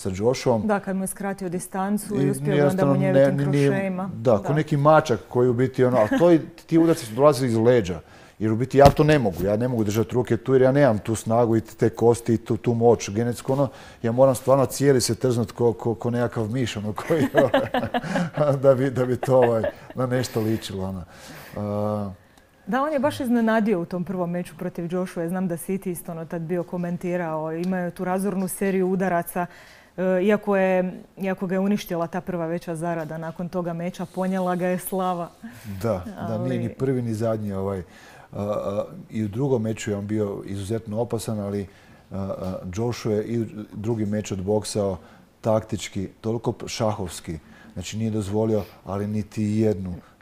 Joshuom. Da, kad mu je skratio distancu i uspio onda mu njevitim krošejima. Da, ko neki mačak koji u biti ali ti udarci su dolazili iz leđa. Jer u biti ja to ne mogu. Ja ne mogu držati ruke tu jer ja nemam tu snagu i te kosti i tu moć genetsku. Ja moram stvarno cijeli se trznuti ko nekakav miš koji da bi to na nešto ličilo. Da, on je baš iznenadio u tom prvom meču protiv Joshua. Znam da si ti isto tad bio komentirao. Imaju tu razornu seriju udaraca. Iako ga je uništila ta prva veća zarada, nakon toga meča ponijela ga je slava. Da, nije ni prvi ni zadnji. I u drugom meču je on bio izuzetno opasan, ali Joshua je i drugi meč odboksao taktički, toliko šahovski. Znači nije dozvolio, ali niti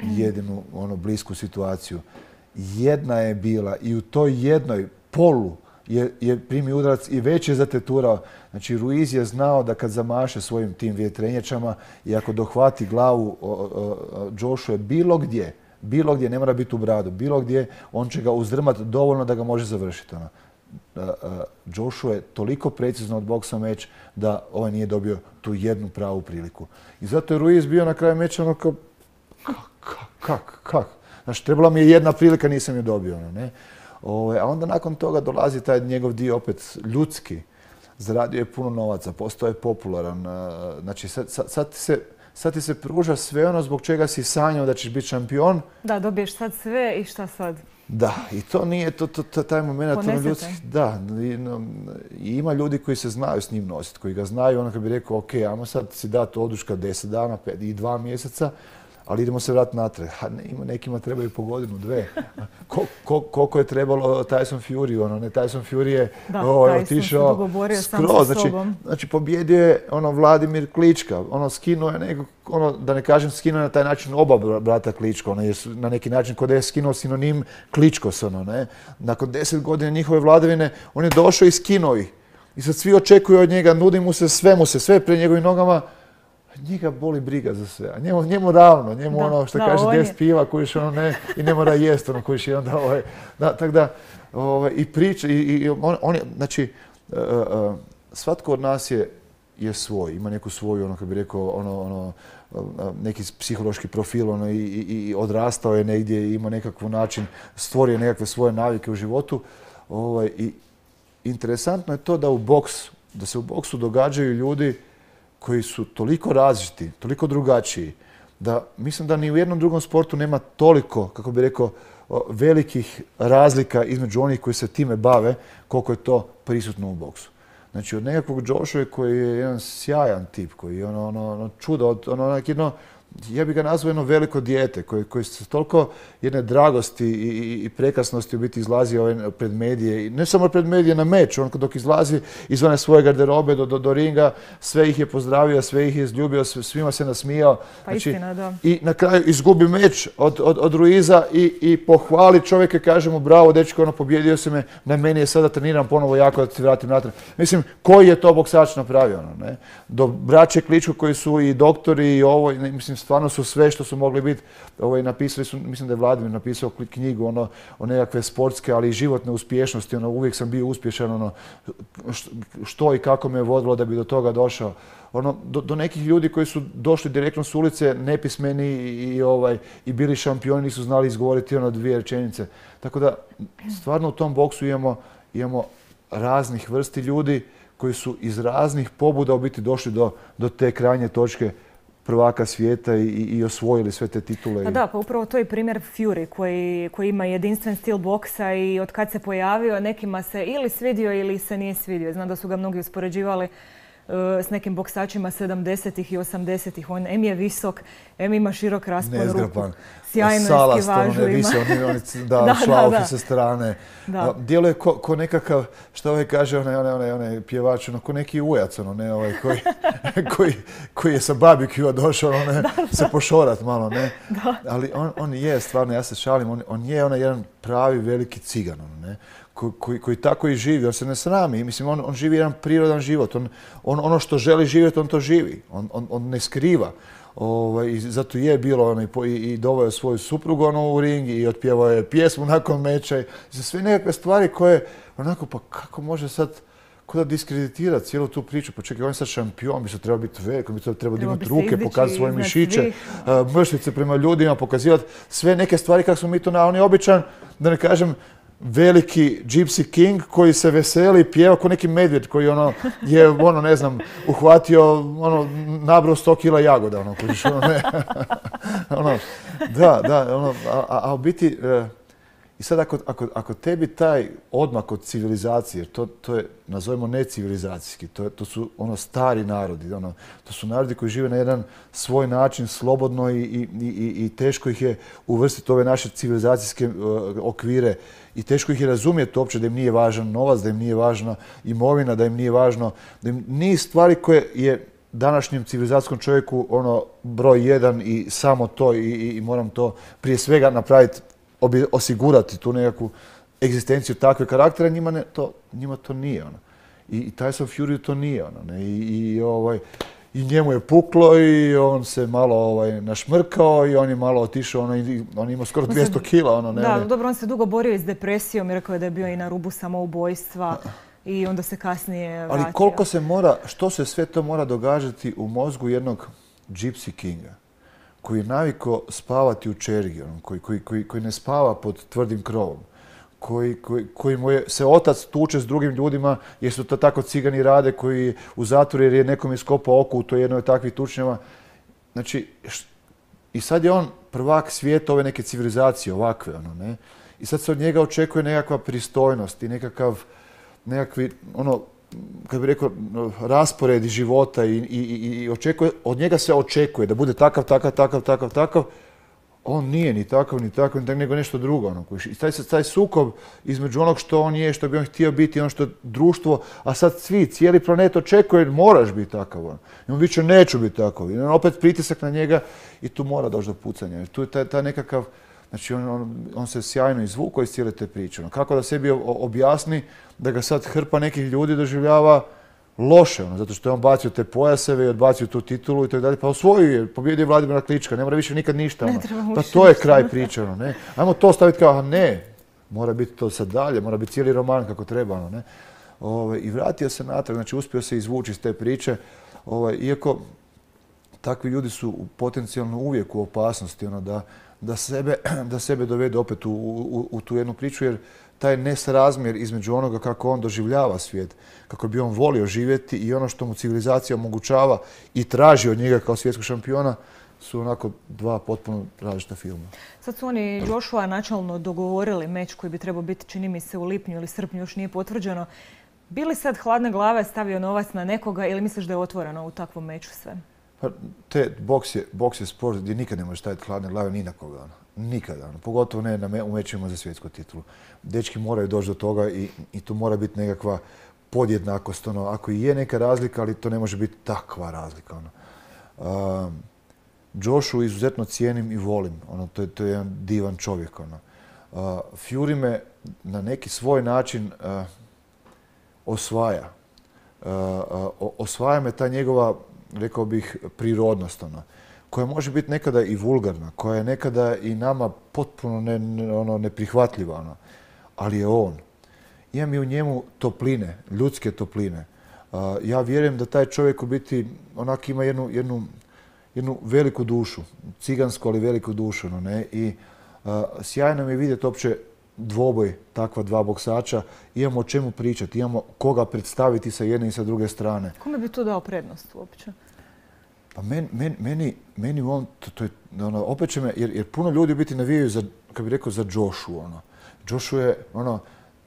jedinu blisku situaciju. Jedna je bila i u toj jednoj polu je primio udarac i već je zateturao. Znači Ruiz je znao da kad zamaše svojim tim vjetrenjačama i ako dohvati glavu Joshua bilo gdje, ne mora biti u bradu, bilo gdje, on će ga uzdrmati dovoljno da ga može završiti. Joshua je toliko precizno odboksao meč da ovaj nije dobio tu jednu pravu priliku. I zato je Ruiz bio na kraju meča kao kak? Znači, trebala mi je jedna prilika, nisam je dobio. A onda nakon toga dolazi taj njegov dio opet ljudski. Zaradio je puno novaca, postao je popularan. Znači, sad ti se pruža sve ono zbog čega si sanjao da ćeš biti šampion. Da, dobiješ sad sve i šta sad? Da, i to nije taj moment ljudski. Da, i ima ljudi koji se znaju s njim nositi, koji ga znaju, ono kad bi rekao, ok, ajmo sad si dati oduška 10 dana i 2 mjeseca, ali idemo se vratiti natrag. Nekima trebaju po godinu, 2. Koliko je trebalo Tyson Fury, Tyson Fury je otišao skroz. Znači, pobjedio je Vladimir Klička, skinuo je nekog, da ne kažem skinuo je na taj način oba brata Klička, na neki način kod je skinuo sinonim Kličkos, Nakon 10 godina njihove vladavine, on je došao i skinuo ih. I sad svi očekuju od njega, nudi mu se, sve pred njegovim nogama. Njega boli briga za sve, a njemu ravno, njemu što kaže 10 piva kojiš i ne mora jest kojiš i onda tako da i priča i on je, znači svatko od nas je svoj, ima neku svoju kako bi rekao neki psihološki profil i odrastao je negdje i ima nekakav način, stvorio nekakve svoje navike u životu i interesantno je to da se u boksu događaju ljudi koji su toliko različiti, toliko drugačiji, da mislim da ni u jednom drugom sportu nema toliko, kako bi rekao, velikih razlika između onih koji se time bave, koliko je to prisutno u boksu. Znači, od nekakvog Joshua koji je jedan sjajan tip, koji je čudo, ja bih ga nazvao jedno veliko dijete, koji se toliko jedne dragosti i prekrasnosti u biti izlazi pred medije. I ne samo pred medije na meč, on dok izlazi izvan svoje garderobe do ringa, sve ih je pozdravio, sve ih je izljubio, svima se nasmijao. Pa istina, da. I na kraju izgubi meč od Ruiza i pohvali čovjeka, kaže mu bravo, dečko, pobjedio si me, na meni je sada treniram ponovo jako da ti vratim natrag. Mislim, koji je to boksač napravio? Do braće Kličko koji su i doktori i ovo, mislim, stvarno su sve što su mogli biti, napisali su, mislim da je Vladimir napisao knjigu o nekakve sportske, ali i životne uspješnosti, uvijek sam bio uspješan, što i kako me je vodilo da bi do toga došao. Do nekih ljudi koji su došli direktno s ulice, nepismeni i bili šampioni, nisu znali izgovoriti 2 rečenice. Tako da, stvarno u tom boksu imamo raznih vrsti ljudi koji su iz raznih pobuda u biti došli do te krajnje točke prvaka svijeta i osvojili sve te titule. Pa da, pa upravo to je primjer Fury koji ima jedinstven stil boksa i od kad se pojavio nekima se ili svidio ili se nije svidio. Znam da su ga mnogi uspoređivali s nekim boksačima 70-ih i 80-ih. On em je visok, em ima širok raspon ruku. Sjajno eskivažu ima. Da, šlaufi sa strane. Djeluje ko nekakav, što ovaj kaže, onaj pjevač, ko neki ujac, koji je sa barbecue došao se pošorat malo, ne? Ali on je stvarno, ja se šalim, on je jedan pravi veliki cigan, ne? Koji tako i živi, on se ne srami. Mislim, on živi jedan prirodan život. Ono što želi živjeti, on to živi. On ne skriva. I zato je bilo i doveo je svoju suprugu u ring i otpjevao je pjesmu nakon meča. Za sve nekakve stvari koje, onako, pa kako može sad da diskreditirati cijelu tu priču? Pa čekaj, on je sad šampion, bi se trebao biti velik, bi se trebao dignuti ruke, pokazati svoje mišiće, mršlice prema ljudima, pokazivati sve neke stvari kako smo mi to on je običan, da ne kažem, veliki Gypsy King koji se veseli i pjeva kao neki medvjed koji je, ne znam, uhvatio, nabrao 100 kila jagoda, a u biti, i sad ako tebi taj odmak od civilizacije, jer to je, nazovemo, necivilizacijski, to su stari narodi, to su narodi koji žive na jedan svoj način, slobodno i teško ih je uvrstiti u ove naše civilizacijske okvire i teško ih je razumjeti uopće da im nije važan novac, da im nije važna imovina, da im nije važno, da im niz stvari koje je današnjem civilizacijskom čovjeku broj jedan i samo to i moram to prije svega napraviti, osigurati tu nekakvu egzistenciju takve karaktera, njima to nije. I Tyson Fury to nije. I njemu je puklo i on se malo našmrkao i on je malo otišao, on ima skoro 200 kila. Da, dobro, on se dugo borio i s depresijom i rekao je da je bio i na rubu samoubojstva i onda se kasnije vratio. Ali koliko se mora, što se sve to mora događati u mozgu jednog Gypsy Kinga, koji je navikao spavati u čergi, koji ne spava pod tvrdim krovom, koji mu se otac tuče s drugim ljudima jer su to tako cigani rade, koji u zatvoru jer je nekom iskopao oko u toj jednoj od takvih tučnjava. Znači, i sad je on prvak svijeta ove neke civilizacije, ovakve, ne? I sad se od njega očekuje nekakva pristojnost i nekakvi, kako bi rekao, rasporedi života i od njega se očekuje da bude takav. On nije ni takav, nego nešto drugo. I taj sukob između onog što on je, što bi on htio biti, ono što je društvo, a sad cijeli planet očekuje, moraš biti takav. I on više neću biti takav. I opet pritisak na njega i tu mora doći do pucanja. Tu je taj nekakav, znači on se sjajno izvukao iz cijele te priče. Kako da sebi objasni da ga sad hrpa nekih ljudi doživljava loše, zato što je on bacio te pojaseve i odbacio tu titulu i tako dalje. Pa osvojio je, pobjedio je Vladimira Klička, ne mora više nikad ništa. Pa to je kraj priče. Ajmo to staviti kao, ne, mora biti to sad dalje, mora biti cijeli roman kako treba. I vratio se natrag, znači uspio se izvući iz te priče, iako takvi ljudi su potencijalno uvijek u opasnosti da sebe dovedu opet u tu jednu priču, jer taj nesrazmjer između onoga kako on doživljava svijet, kako bi on volio živjeti i ono što mu civilizacija omogućava i traži od njega kao svjetskog šampiona, su onako dva potpuno različita filma. Sad su oni Joshua načalno dogovorili meč koji bi trebao biti, čini mi se, u lipnju ili srpnju, još nije potvrđeno. Bi li sad hladne glave stavio novac na nekoga ili misliš da je otvoreno u takvom meču sve? Pa, boks je sport gdje nikad ne možeš staviti hladne glave ni na koga. Nikada. Pogotovo ne u mečima za svjetsku titulu. Dečki moraju doći do toga i tu mora biti nekakva podjednakost. Ako i je neka razlika, ali to ne može biti takva razlika. Joshu izuzetno cijenim i volim. To je jedan divan čovjek. Fury me na neki svoj način osvaja. Osvaja me ta njegova, rekao bih, prirodnost, koja može biti nekada i vulgarna, koja je nekada i nama potpuno neprihvatljiva, ali je on. Imam i u njemu topline, ljudske topline. Ja vjerujem da taj čovjek u biti onak ima jednu veliku dušu, cigansku, ali veliku dušu. I sjajno mi je vidjeti uopće dvoboj takva dva boksača, imamo o čemu pričati, imamo koga predstaviti sa jedne i sa druge strane. Kome bi tu dao prednost uopće? Pa meni on, to je, opet će me, jer puno ljudi biti navijaju za, kako bi rekao, za Joshua. Joshua je,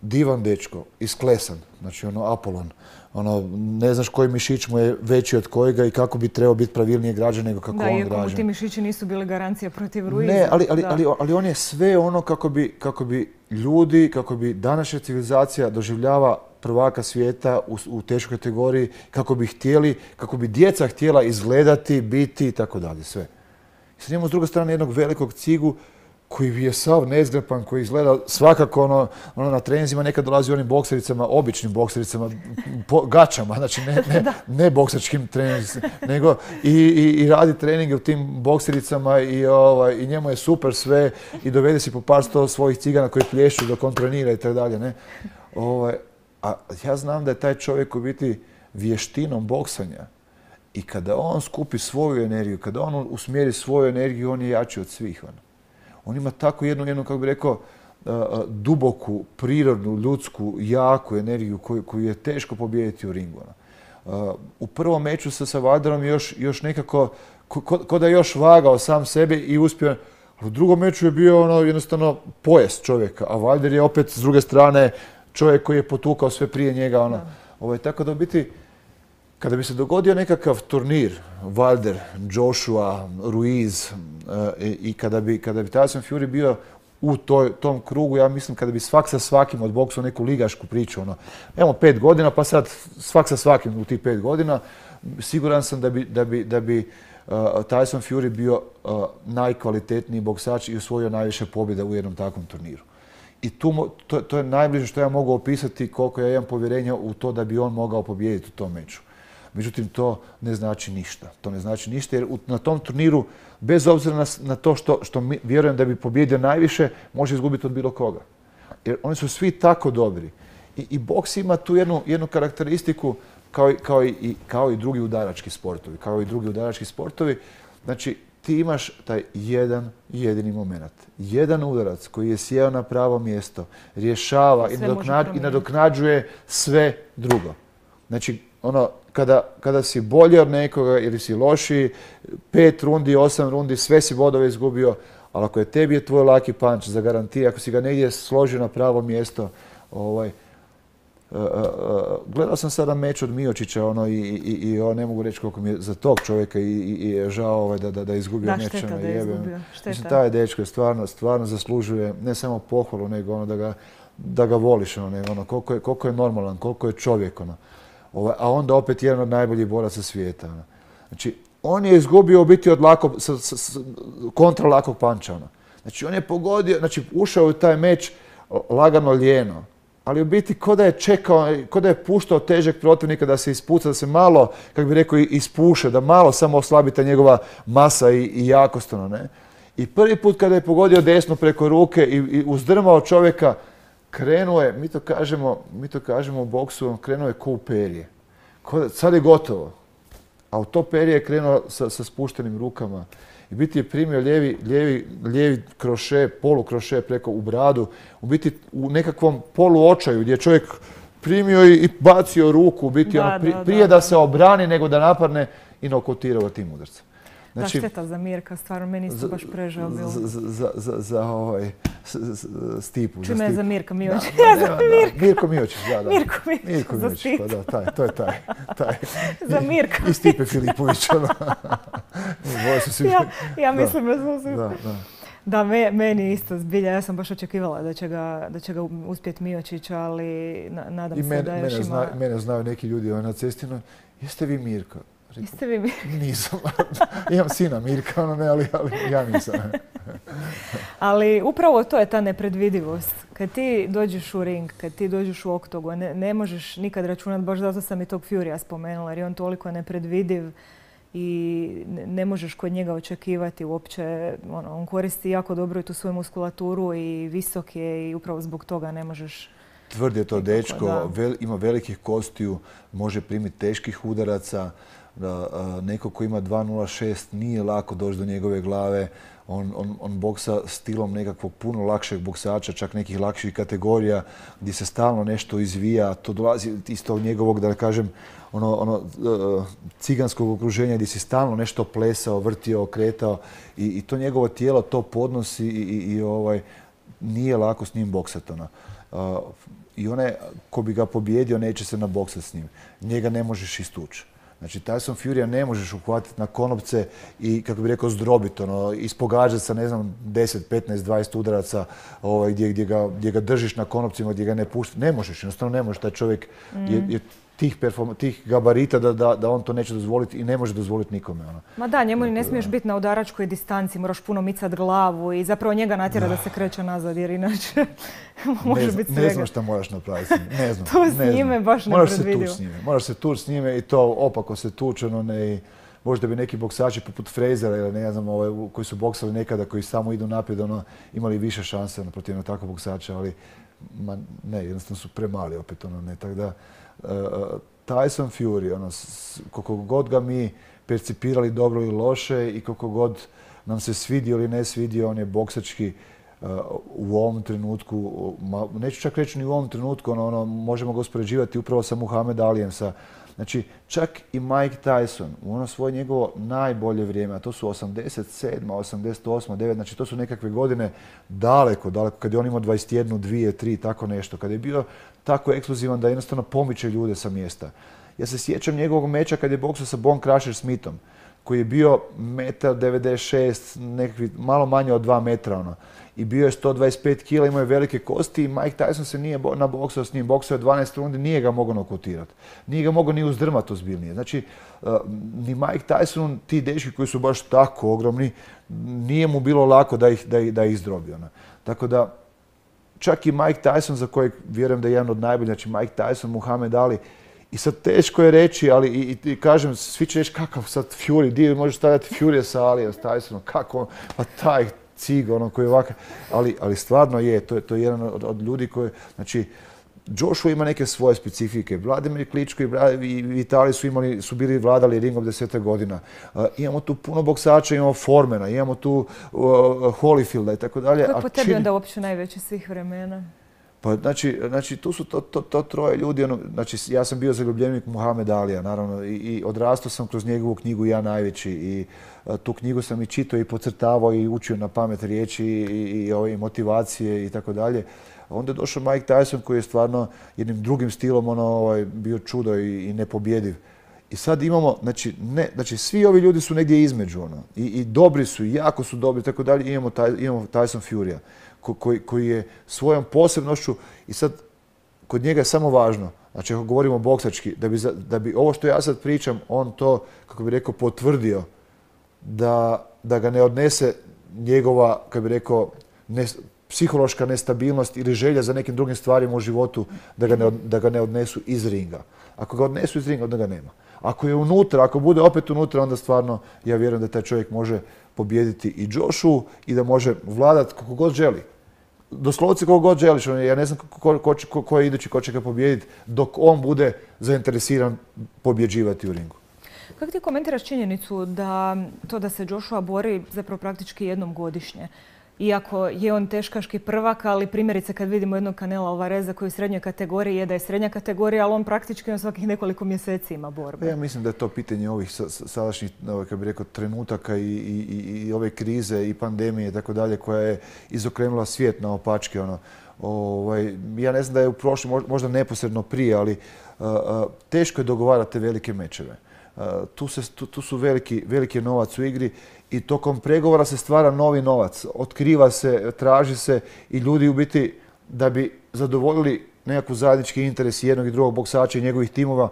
divan dečko, isklesan, znači Apolon. Ne znaš koji mišić mu je veći od kojega i kako bi trebao biti pravilnije građan nego kako on građan. Da, iako mu ti mišići nisu bili garancija protiv Ruiza. Ne, ali on je sve kako bi ljudi, kako bi današnja civilizacija doživljava prvaka svijeta u teškoj kategoriji, kako bi djeca htjela izgledati, biti i tako dalje, sve. I sad imamo s druge strane jednog velikog cigu koji je sav nezgrapan, koji izgleda svakako na treninzima nekad dolazi u onim boksericama, običnim boksericama, gačama, znači ne boksačkim treninzima, nego i radi treninge u tim boksericama i njemu je super sve i dovede si po par sto svojih cigana koji plješću dok on trenira i tako dalje, ne. A ja znam da je taj čovjek u biti vještinom boksanja i kada on skupi svoju energiju, kada on usmjeri svoju energiju, on je jači od svih. On ima tako jednu, kako bi rekao, duboku, prirodnu, ljudsku, jaku energiju koju je teško pobijediti u ringu. U prvom meču sa Wilderom još nekako, ko da je još vagao sam sebe i uspio. U drugom meču je bio jednostavno pojas čovjeka, a Wilder je opet s druge strane čovjek koji je potukao sve prije njega. Tako da u biti, kada bi se dogodio nekakav turnir, Wilder, Joshua, Ruiz i kada bi Tyson Fury bio u tom krugu, ja mislim kada bi svak sa svakim odboksao neku ligašku priču, evo 5 godina pa sad svak sa svakim u tih 5 godina, siguran sam da bi Tyson Fury bio najkvalitetniji boksač i osvojio najviše pobjeda u jednom takvom turniru. I to je najbliže što ja mogu opisati koliko ja imam povjerenja u to da bi on mogao pobijediti u tom meču. Međutim, to ne znači ništa. To ne znači ništa jer na tom turniru, bez obzira na to što vjerujem da bi pobjedio najviše, može izgubiti od bilo koga. Jer oni su svi tako dobri. I boks ima tu jednu karakteristiku kao i drugi udarački sportovi. Znači, ti imaš taj jedan jedini moment. Jedan udarac koji je sjeo na pravo mjesto, rješava i nadoknađuje sve drugo. Znači, kada si bolji od nekoga ili si lošiji, 5 rundi, 8 rundi, sve si bodove izgubio, ali ako je tebi tvoj laki punch zagarantira, ako si ga negdje složio na pravo mjesto, gledao sam sada meč od Miocića i ne mogu reći koliko mi je za tog čovjeka i žao da je izgubio meč. Da, šteta da je izgubio. Mislim, taj dečko je stvarno zaslužuje ne samo pohvalu, nego da ga voliš, koliko je normalan, koliko je čovjek. A onda opet jedan od najboljih boraca svijeta. Znači, on je izgubio u biti od kontra lakog panča. Znači, on je pogodio, znači, ušao u taj meč lagano lijeno. Ali u biti ko da je čekao, ko da je puštao težeg protivnika da se ispuca, da se malo, kako bi rekao, ispuše, da malo samo oslabi ta njegova masa i jakost. I prvi put kada je pogodio desno preko ruke i uzdrmao čovjeka, krenuo je, mi to kažemo u boksu, krenuo je ko u perje. Sad je gotovo. A u to perje je krenuo sa spuštenim rukama. I biti je primio lijevi kroše, polukroše preko u bradu. U biti u nekakvom poluočaju gdje je čovjek primio i bacio ruku. U biti prije da se obrani nego da napadne i nokautirao tim udarcem. Znači, šteta za Mirka, stvarno meni isto baš prežao bilo. Za Stipu. Čime je za Mirka Miočić? Mirko Miočić, da. Mirko Miočić, za Stipu. Pa da, to je taj. Za Mirka. I Stipe Filipović. Ja mislim da smo svi. Da, meni isto zbilja. Ja sam baš očekivala da će ga uspjeti Miočić, ali nadam se da još ima... Mene znaju neki ljudi na cesti. Jeste vi Mirko? Jeste vi Mirko? Nisam. Imam sina Mirka, ali ja nisam. Ali upravo to je ta nepredvidivost. Kad ti dođeš u ring, kad ti dođeš u oktogon, ne možeš nikad računati, baš zato sam i tog Furya spomenula, jer je on toliko nepredvidiv i ne možeš kod njega očekivati uopće. On koristi jako dobro i tu svoju muskulaturu i visok je i upravo zbog toga ne možeš... Tvrd je to dečko, ima velikih kostiju, može primiti teških udaraca. neko ko ima 2.06 nije lako doći do njegove glave. On boksa stilom nekakvog puno lakšeg boksača, čak nekih lakših kategorija gdje se stalno nešto izvija. To dolazi iz tog njegovog, da kažem, ciganskog okruženja gdje si stalno nešto plesao, vrtio, okretao i to njegovo tijelo to podnosi i nije lako s njim boksati. I onaj ko bi ga pobjedio neće se naboksati s njim. Njega ne možeš istući. Znači, Tyson Furya ne možeš uhvatiti na konopce i, kako bi rekao, zdrobiti, ispogađati sa, ne znam, 10, 15, 20 udaraca gdje ga držiš na konopcima, gdje ga ne pušti. Ne možeš, jednostavno ne možeš. Taj čovjek je tih gabarita da on to neće dozvoliti i ne može dozvoliti nikome. Ma da, njemu ne smiješ biti na udaračkoj distanci, moraš puno micati glavu i zapravo njega natjera da se kreće nazad, jer inače može biti svega. Ne znam šta moraš napraviti. Ne znam. To s njime baš nepredvidivo. Moraš se tući s njime i to opako se tuče. Možda bi neki boksači poput Frasera ili ne znam, koji su boksali nekada, koji samo idu naprijed, imali više šanse protiv takvog boksača, ali ne, jednostavno su premali opet. Tako da, Tyson Fury, koliko god ga mi percipirali dobro ili loše i koliko god nam se svidio ili ne svidio, on je boksački u ovom trenutku, neću čak reći ni u ovom trenutku, možemo ga uspoređivati upravo sa Muhammed Alijem. Znači, čak i Mike Tyson u svoje njegovo najbolje vrijeme, a to su 87, 88, 9, znači to su nekakve godine daleko, kad je on imao 21, 2, 3, tako nešto, kad je bio tako ekskluzivan da jednostavno pomiče ljude sa mjesta. Ja se sjećam njegovog meča kad je boksao sa Bone Crusher Smithom, koji je bio 1,96 m, nekakvi malo manje od 2 metra, i bio je 125 kg, imao je velike kosti i Mike Tyson se nije naboksao s njim. Boksao je 12 rundi, nije ga mogao nokautirati. Nije ga mogao ni uzdrmati ozbiljnije. Znači, ni Mike Tyson, ti dečki koji su baš tako ogromni, nije mu bilo lako da ih izdrobi. Tako da, čak i Mike Tyson, za kojeg vjerujem da je jedan od najboljih, znači Mike Tyson, Muhammed Ali, i sad teško je reći, ali i kažem, svi će reći kakav sad Fury, di možeš stavljati Fury sa Alijem, s Tysonom, kako, pa taj cig, koji je ovakav, ali stvarno je, to je jedan od ljudi koji, znači, Joshua ima neke svoje specifike. Vladimir Kličko i Vitali su bili vladali ringom 10 godina. Imamo tu puno boksača, imamo Formana, imamo tu Holyfielda i tako dalje. Kako je po tebi onda uopće najveći svih vremena? Pa znači tu su to troje ljudi. Znači, ja sam bio zaljubljenik Muhammed Alija, naravno, i odrastao sam kroz njegovu knjigu Ja najveći. I tu knjigu sam i čitao i podcrtavao i učio na pamet riječi i motivacije i tako dalje. Onda je došao Mike Tyson koji je stvarno jednim drugim stilom bio čudo i nepobjediv. I sad imamo, znači svi ovi ljudi su negdje između, i dobri su, i jako su dobri, tako dalje. Imamo Tyson Furya koji je svojom posebnošću, i sad kod njega je samo važno, znači ako govorimo boksački, da bi ovo što ja sad pričam, on to, kako bi rekao, potvrdio da ga ne odnese njegova, kako bi rekao, psihološka nestabilnost ili želja za nekim drugim stvarima u životu, da ga ne odnesu iz ringa. Ako ga odnesu iz ringa, onda ga nema. Ako je unutra, ako bude opet unutra, onda stvarno ja vjerujem da taj čovjek može pobijediti i Joshua i da može vladati kako god želi. Doslovce kako god želiš. Ja ne znam ko je idući, ko će ga pobijediti dok on bude zainteresiran pobjeđivati u ringu. Kako ti komentiraš činjenicu da se Joshua bori zapravo praktički jednom godišnje? Iako je on teškaški prvak, ali primjerice kad vidimo jednog Canela Alvareza koji je u srednjoj kategoriji, je da je srednja kategorija, ali on praktički na svakih nekoliko mjeseci ima borbe. Ja mislim da je to pitanje ovih sadašnjih, kako bih rekao, trenutaka i ove krize i pandemije i tako dalje, koja je izokrenula svijet naopačke. Ja ne znam da je u prošlom, možda neposredno prije, ali teško je dogovarati te velike mečeve. Tu su veliki novac u igri i tokom pregovora se stvara novi novac. Otkriva se, traži se i ljudi u biti da bi zadovoljili nekakvu zajednički interes jednog i drugog boksača i njegovih timova.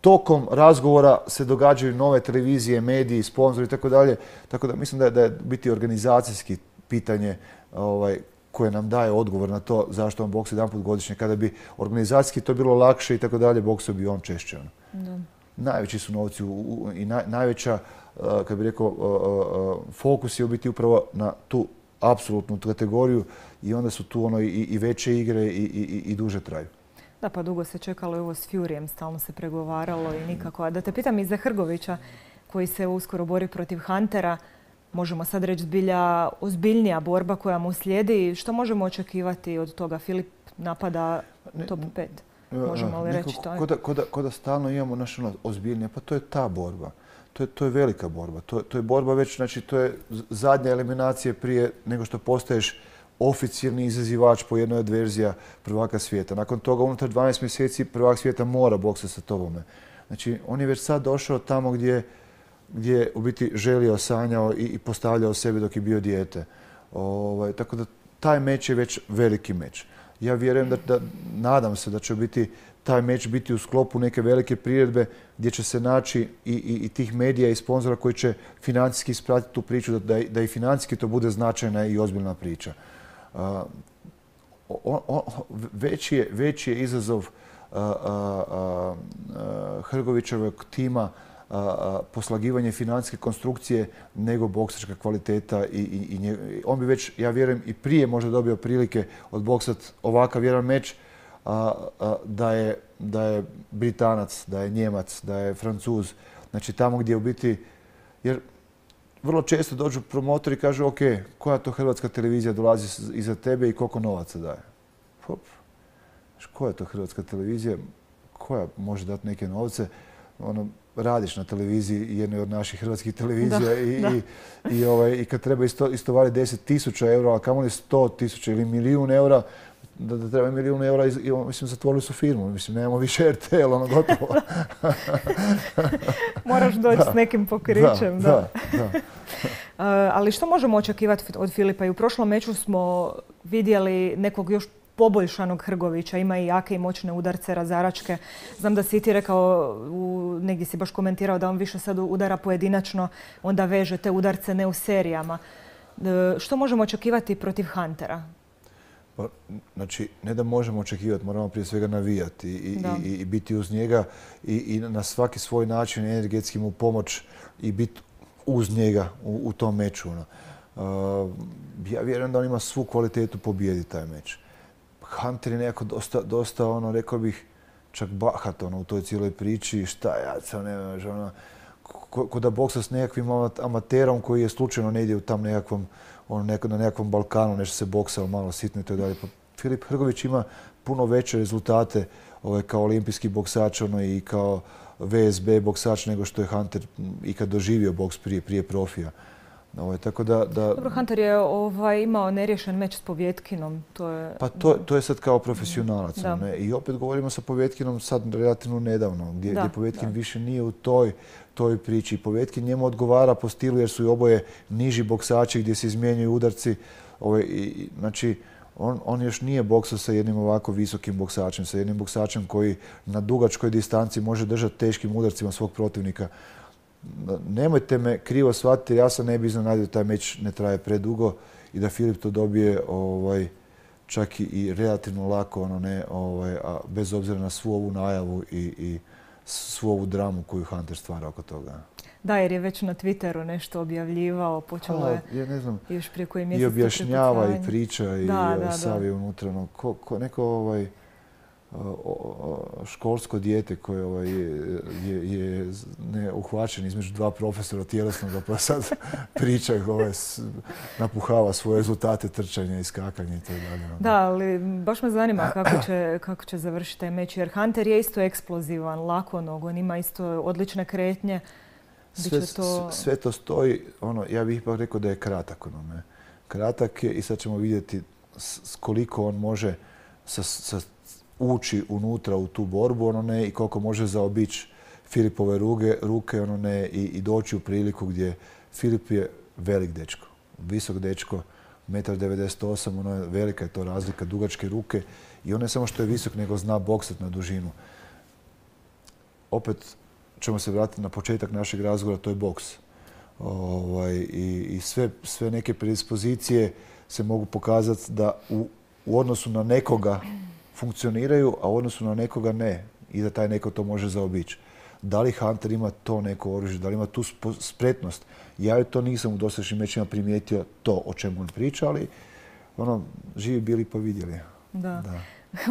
Tokom razgovora se događaju nove televizije, mediji, sponzori i tako dalje. Tako da mislim da je biti organizacijski pitanje koje nam daje odgovor na to zašto on boksa jedanput godišnje. Kada bi organizacijski to bilo lakše i tako dalje, boksao bi on češće. Najveći su novci i najveća, kako bih rekao, fokus je u biti upravo na tu apsolutnu kategoriju i onda su tu i veće igre i duže traju. Da, pa dugo se čekalo i ovo s Furyjem, stalno se pregovaralo i nikako. A da te pitam i za Hrgovića, koji se uskoro bori protiv Huntera, možemo sad reći zbilja ozbiljnija borba koja mu slijedi. Što možemo očekivati od toga? Filip napada top 5. Možemo li reći to? Ko da stalno imamo naš ozbiljnije, pa to je ta borba. To je velika borba. To je borba već, znači to je zadnja eliminacija prije nego što postaješ oficijalni izazivač po jednoj od verzija prvaka svijeta. Nakon toga, unutar 12 mjeseci, prvak svijeta mora boksati sa tobome. Znači, on je već sad došao tamo gdje je u biti želio, sanjao i postavljao sebe dok je bio dijete. Tako da taj meč je već veliki meč. Ja vjerujem nadam se da će biti taj meč biti u sklopu neke velike priredbe gdje će se naći i tih medija i sponzora koji će financijski ispratiti tu priču, da i financijski to bude značajna i ozbiljna priča. Veći je izazov Hrgovićevog tima poslagivanje financijske konstrukcije nego boksačka kvaliteta i on bi već, ja vjerujem, i prije možda dobio prilike odboksat ovakav jedan meč da je Britanac, da je Njemac, da je Francuz. Znači tamo gdje u biti, jer vrlo često dođu promotori i kažu ok, koja to hrvatska televizija dolazi iza tebe i koliko novaca daje? Hop. Koja je to hrvatska televizija? Koja može dati neke novce? Radiš na televiziji jednoj od naših hrvatskih televizija i kad treba istovariti 10.000 eura, a kamoli 100.000 ili milijun eura, da treba milijun eura, mislim, zatvorili su firmu. Mislim, nemamo više RTL, gotovo. Moraš doći s nekim pokrićem. Da. Ali što možemo očekivati od Filipa? I u prošlom meču smo vidjeli nekog još poboljšanog Hrgovića. Ima i jake i moćne udarce, razaračke. Znam da si ti rekao, negdje si baš komentirao da on više sad udara pojedinačno, onda veže te udarce ne u serijama. Što možemo očekivati protiv Huntera? Znači, ne da možemo očekivati, moramo prije svega navijati i biti uz njega i na svaki svoj način energetski mu pomoć i biti uz njega u tom meču. Ja vjerujem da on ima svu kvalitetu pobijediti taj meč. Hunter je nekako dosta, rekao bih, čak bahat u toj cijeloj priči. Šta ja sam ne ko da boksa s nekakvim amaterom koji je slučajno negdje u tam nekakvom, na nekakvom Balkanu, nešto se boksao malo sitno i to dalje. Filip Hrgović ima puno veće rezultate kao olimpijski boksač i kao VSB boksač nego što je Hunter ikad doživio boks prije profija. Dobro, Hunter je imao neriješen meč s Povjetkinom. Pa to je sad kao profesionalac. I opet govorimo sa Povjetkinom sad relativno nedavno, gdje Povjetkin više nije u toj priči. Povjetkin njemu odgovara po stilu jer su i oboje niži boksači gdje se izmjenjuju udarci. Znači, on još nije boksao sa jednim ovako visokim boksačem, sa jednim boksačem koji na dugačkoj distanci može držati teškim udarcima svog protivnika. Nemojte me krivo shvatiti, ja sam ne bi iznenadio da taj meč ne traje predugo i da Filip to dobije čak i relativno lako, bez obzira na svu ovu najavu i svu ovu dramu koju Hunter stvara oko toga. Da, jer je već na Twitteru nešto objavljivao, počelo je još prije koji mjesec. I objašnjava i priča i savi unutra. Neko školsko dijete koje je uhvaćen između dva profesora tjelesnog, pa sad priča, napuhava svoje rezultate trčanja i skakanja i tako dalje. Da, ali baš me zanima kako će završiti taj meč, jer Hunter je isto eksplozivan, lakonog, on ima isto odlične kretnje. Sve to stoji, ja bih ipak rekao da je kratak. Kratak je i sad ćemo vidjeti koliko on može ući unutra u tu borbu i koliko može zaobići Filipove ruke i doći u priliku gdje Filip je velik dečko, visok dečko, 1,98 m, velika je to razlika, dugačke ruke i on ne samo što je visok nego zna boksati na dužinu. Opet ćemo se vratiti na početak našeg razgovora, to je boks. I sve neke predispozicije se mogu pokazati da u odnosu na nekoga funkcioniraju, a u odnosu na nekoga ne. I da taj neko to može zaobići. Da li Hunter ima to neko oružje, da li ima tu spretnost? Ja joj to nisam u dosadašnjim mečima primijetio to o čemu on priča, ali živi bili pa vidjeli. Da.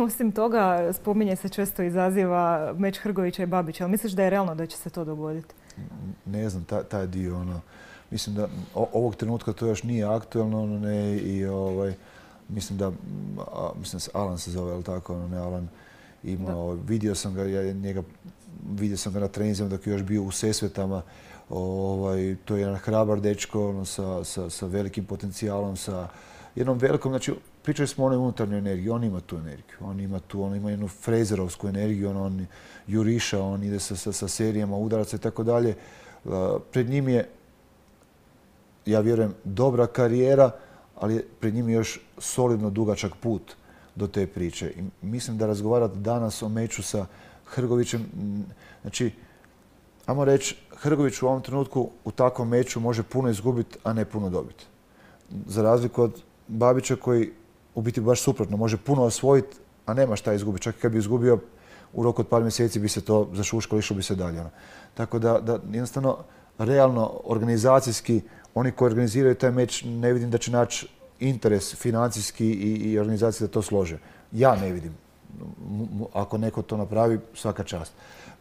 Osim toga, spominje se često izaziva meč Hrgovića i Babića. Ali misliš da je realno da će se to dogoditi? Ne znam, taj dio, mislim da ovog trenutka to još nije aktualno, mislim da se Alan se zove, ali tako, Alan ima, vidio sam ga na treninzima dok je još bio u Sesvetama. To je jedan hrabar dečko sa velikim potencijalom, sa jednom velikom, znači pričali smo o onoj unutarnjoj energiji, on ima tu energiju, on ima jednu frezerovsku energiju, on juriša, on ide sa serijama udaraca i tako dalje. Pred njim je, ja vjerujem, dobra karijera, ali pred njim je još solidno dugačak put do te priče. I mislim da razgovarati danas o meču sa Hrgovićem, znači, ajmo reći, Hrgović u ovom trenutku u takvom meču može puno izgubiti, a ne puno dobiti. Za razliku od Babića koji u biti baš suprotno može puno osvojiti, a nema šta izgubiti. Čak i kad bi izgubio u roku od par mjeseci bi se to zašuškalo, išlo bi se dalje. Tako da jednostavno, realno, organizacijski, oni koji organiziraju taj meč ne vidim da će naći interes financijski i organizacije da to slože. Ja ne vidim. Ako neko to napravi, svaka čast.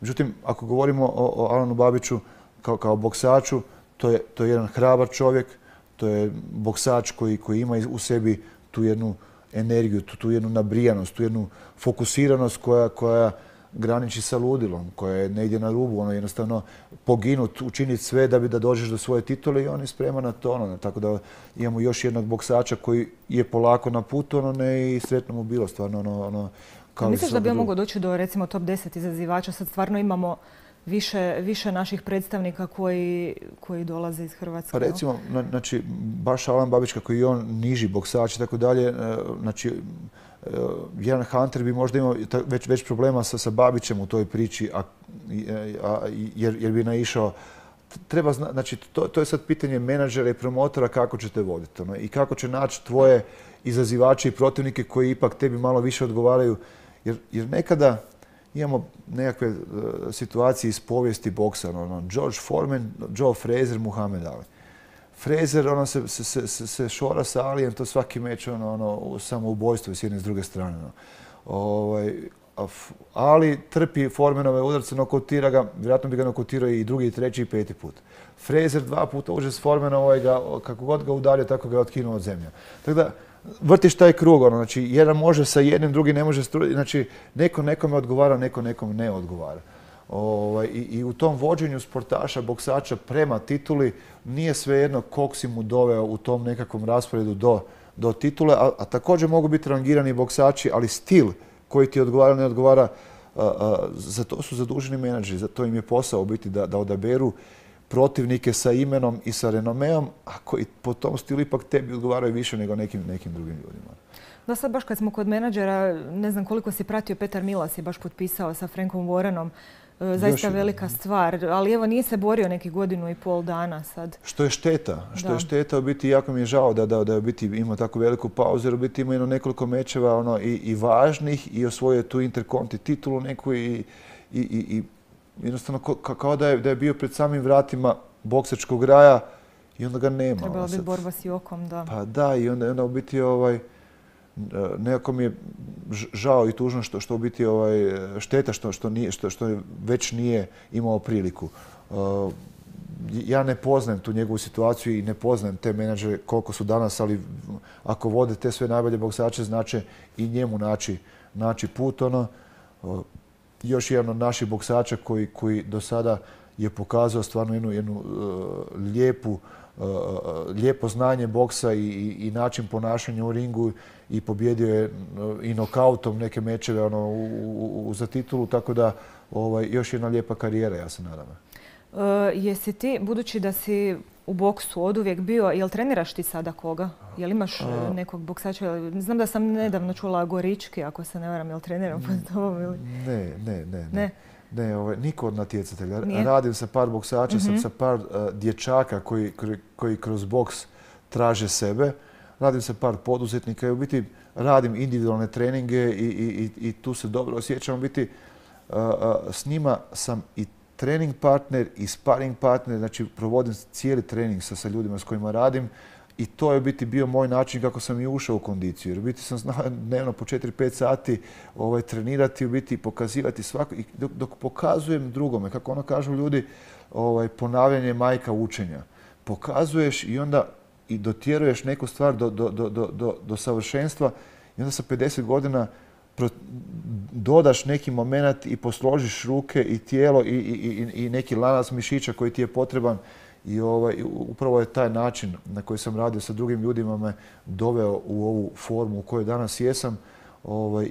Međutim, ako govorimo o Alanu Babiću kao boksaču, to je jedan hrabar čovjek, to je boksač koji ima u sebi tu jednu energiju, tu jednu nabrijanost, tu jednu fokusiranost koja graniči sa ludilom, koja je negdje na rubu, jednostavno poginut, učiniti sve da dođeš do svoje titule i on je spreman na to. Tako da imamo još jednog boksača koji je polako na putu i sretno mu bilo stvarno. Misliš da bi on mogao doći do recimo top 10 izazivača? Sad stvarno imamo više naših predstavnika koji dolaze iz Hrvatske. Pa recimo, znači, baš Alan Babić, kako i on niži boksač i tako dalje, znači, jedan Hunter bi možda imao već problema sa Babićem u toj priči, jer bi naišao. Znači, to je sad pitanje menadžera i promotora kako ćete voditi i kako će naći tvoje izazivače i protivnike koji ipak tebi malo više odgovaraju. Jer nekada imamo nekakve situacije iz povijesti boksa. George Foreman, Joe Frazier, Muhammad Ali. Frazier se šora sa Alijem, to svaki meč samoubojstvo s jedne i s druge strane. Ali trpi Foremanove udarce, nokotira ga, vjerojatno bi ga nokotirao i drugi, i treći, i peti put. Frazier 2 puta uđe s Foremana, kako god ga udario, tako ga je otkinuo od zemlje. Tako da, vrtiš taj krug, znači jedan može sa jednim, drugi ne može, znači neko nekome odgovara, neko nekom ne odgovara. I u tom vođenju sportaša, boksača prema tituli nije svejedno kog si mu doveo u tom nekakvom rasporedu do titule, a također mogu biti rangirani boksači, ali stil koji ti odgovara, ne odgovara, za to su zaduženi menadžeri, za to im je posao biti da odaberu protivnike sa imenom i sa renomeom, a koji po tom stilu ipak tebi odgovaraju više nego nekim drugim ljudima. Da, sad baš kad smo kod menadžera, ne znam koliko si pratio, Petar Milas je baš potpisao sa Frankom Warrenom. Zaista velika stvar, ali evo nije se borio neki 1,5 godina dana sad. Što je šteta, u biti jako mi je žao da je biti imao tako veliku pauzu, jer u biti imao nekoliko mečeva i važnih i osvojio tu Interconti titulu neku i jednostavno kao da je bio pred samim vratima boksačkog raja i onda ga nema. Trebala biti borba s Jokom, da. Pa da, i onda u biti nekako mi je žao i tužno što u biti šteta što već nije imao priliku. Ja ne poznajem tu njegovu situaciju i ne poznajem te menadžere koliko su danas, ali ako vode te sve najbolje boksače, znači i njemu naći put. Još jedan od naših boksača koji do sada je pokazao stvarno jednu lijepo znanje boksa i način ponašanja u ringu i pobjedio je i nokautom neke mečeve za titulu, tako da još jedna lijepa karijera, ja se nadam. Jesi ti, budući da si u boksu oduvijek bio, jel treniraš ti sada koga? Jel imaš nekog boksača? Znam da sam nedavno čula Gorički, ako se ne varam, jel treniram pod tobom ili? Ne. Niko od natjecatelja. Radim sa par boksača, sa par dječaka koji kroz boks traže sebe. Radim sa par poduzetnika i u biti radim individualne treninge i tu se dobro osjećam. U biti s njima sam i trening partner i sparring partner, znači provodim cijeli trening sa ljudima s kojima radim I to je u biti bio moj način kako sam i ušao u kondiciju. Jer u biti sam znao dnevno po 4-5 sati trenirati, u biti pokazivati svako. I dok pokazujem drugome, kako ono kažu ljudi, ponavljanje je majka učenja. Pokazuješ i onda i dotjeruješ neku stvar do savršenstva i onda sa 50 godina dodaš neki moment i posložiš ruke i tijelo i neki lanac mišića koji ti je potreban. I upravo je taj način na koji sam radio sa drugim ljudima me doveo u ovu formu u kojoj danas jesam.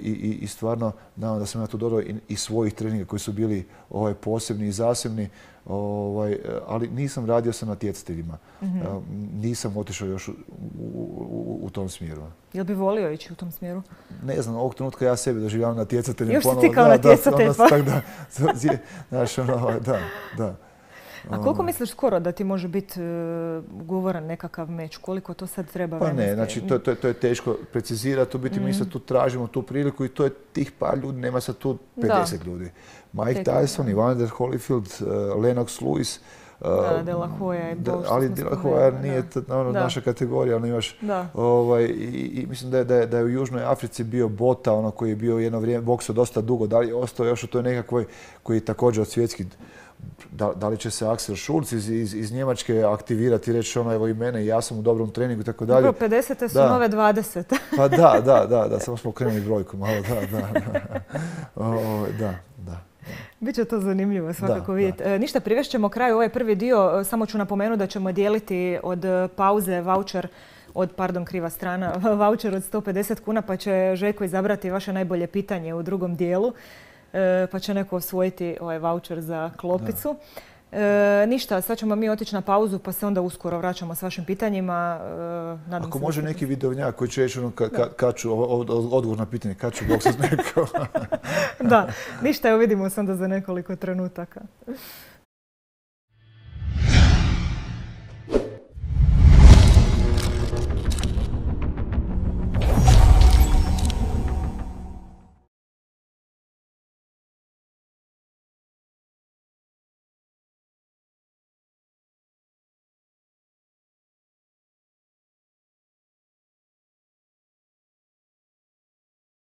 I stvarno, naravno da sam ja tu dodao i svojih treninga koji su bili posebni i zasebni, ali nisam radio sa natjecateljima. Nisam otišao još u tom smjeru. Jel bi volio ići u tom smjeru? Ne znam, ovog trenutka ja sebe doživljavam natjecateljem. Još si ti kao natjecatelj, pa? Da. A koliko misliš skoro da ti može biti ugovoran nekakav meč? Koliko to sad treba vremenski? Pa ne, znači to je teško precizirati. U biti mi sad tu tražimo tu priliku i to je tih par ljudi, nema sad tu 50 ljudi. Mike Tyson, Evander Holyfield, Lennox Lewis. De La Hoya je bol, ali De La Hoya nije naša kategorija. I mislim da je u Južnoj Africi bio Bota, koji je bio jedno vrijeme boksao dosta dugo. Da li je ostao još u toj nekakvoj koji je također od svjetskih. Da li će se Axel Schulz iz Njemačke aktivirati i reći evo i mene i ja sam u dobrom treningu i tako dalje. Dobro, 50. su nove 20. Pa da, samo smo okrenuli brojku malo, da. Biće to zanimljivo svakako vidjeti. Ništa, privešćemo kraju ovaj prvi dio. Samo ću napomenuti da ćemo dijeliti od pauze vaučer kriva strana, vaučer od 150 kuna pa će Željko izabrati vaše najbolje pitanje u drugom dijelu. Pa će neko osvojiti ovaj vaučer za klopicu. Ništa, sad ćemo mi otići na pauzu pa se onda uskoro vraćamo s vašim pitanjima. Ako može neki vidovnjak koji će reći odgovor na pitanje kad ću boksati neko. Da, ništa, evo vidimo se onda za nekoliko trenutaka.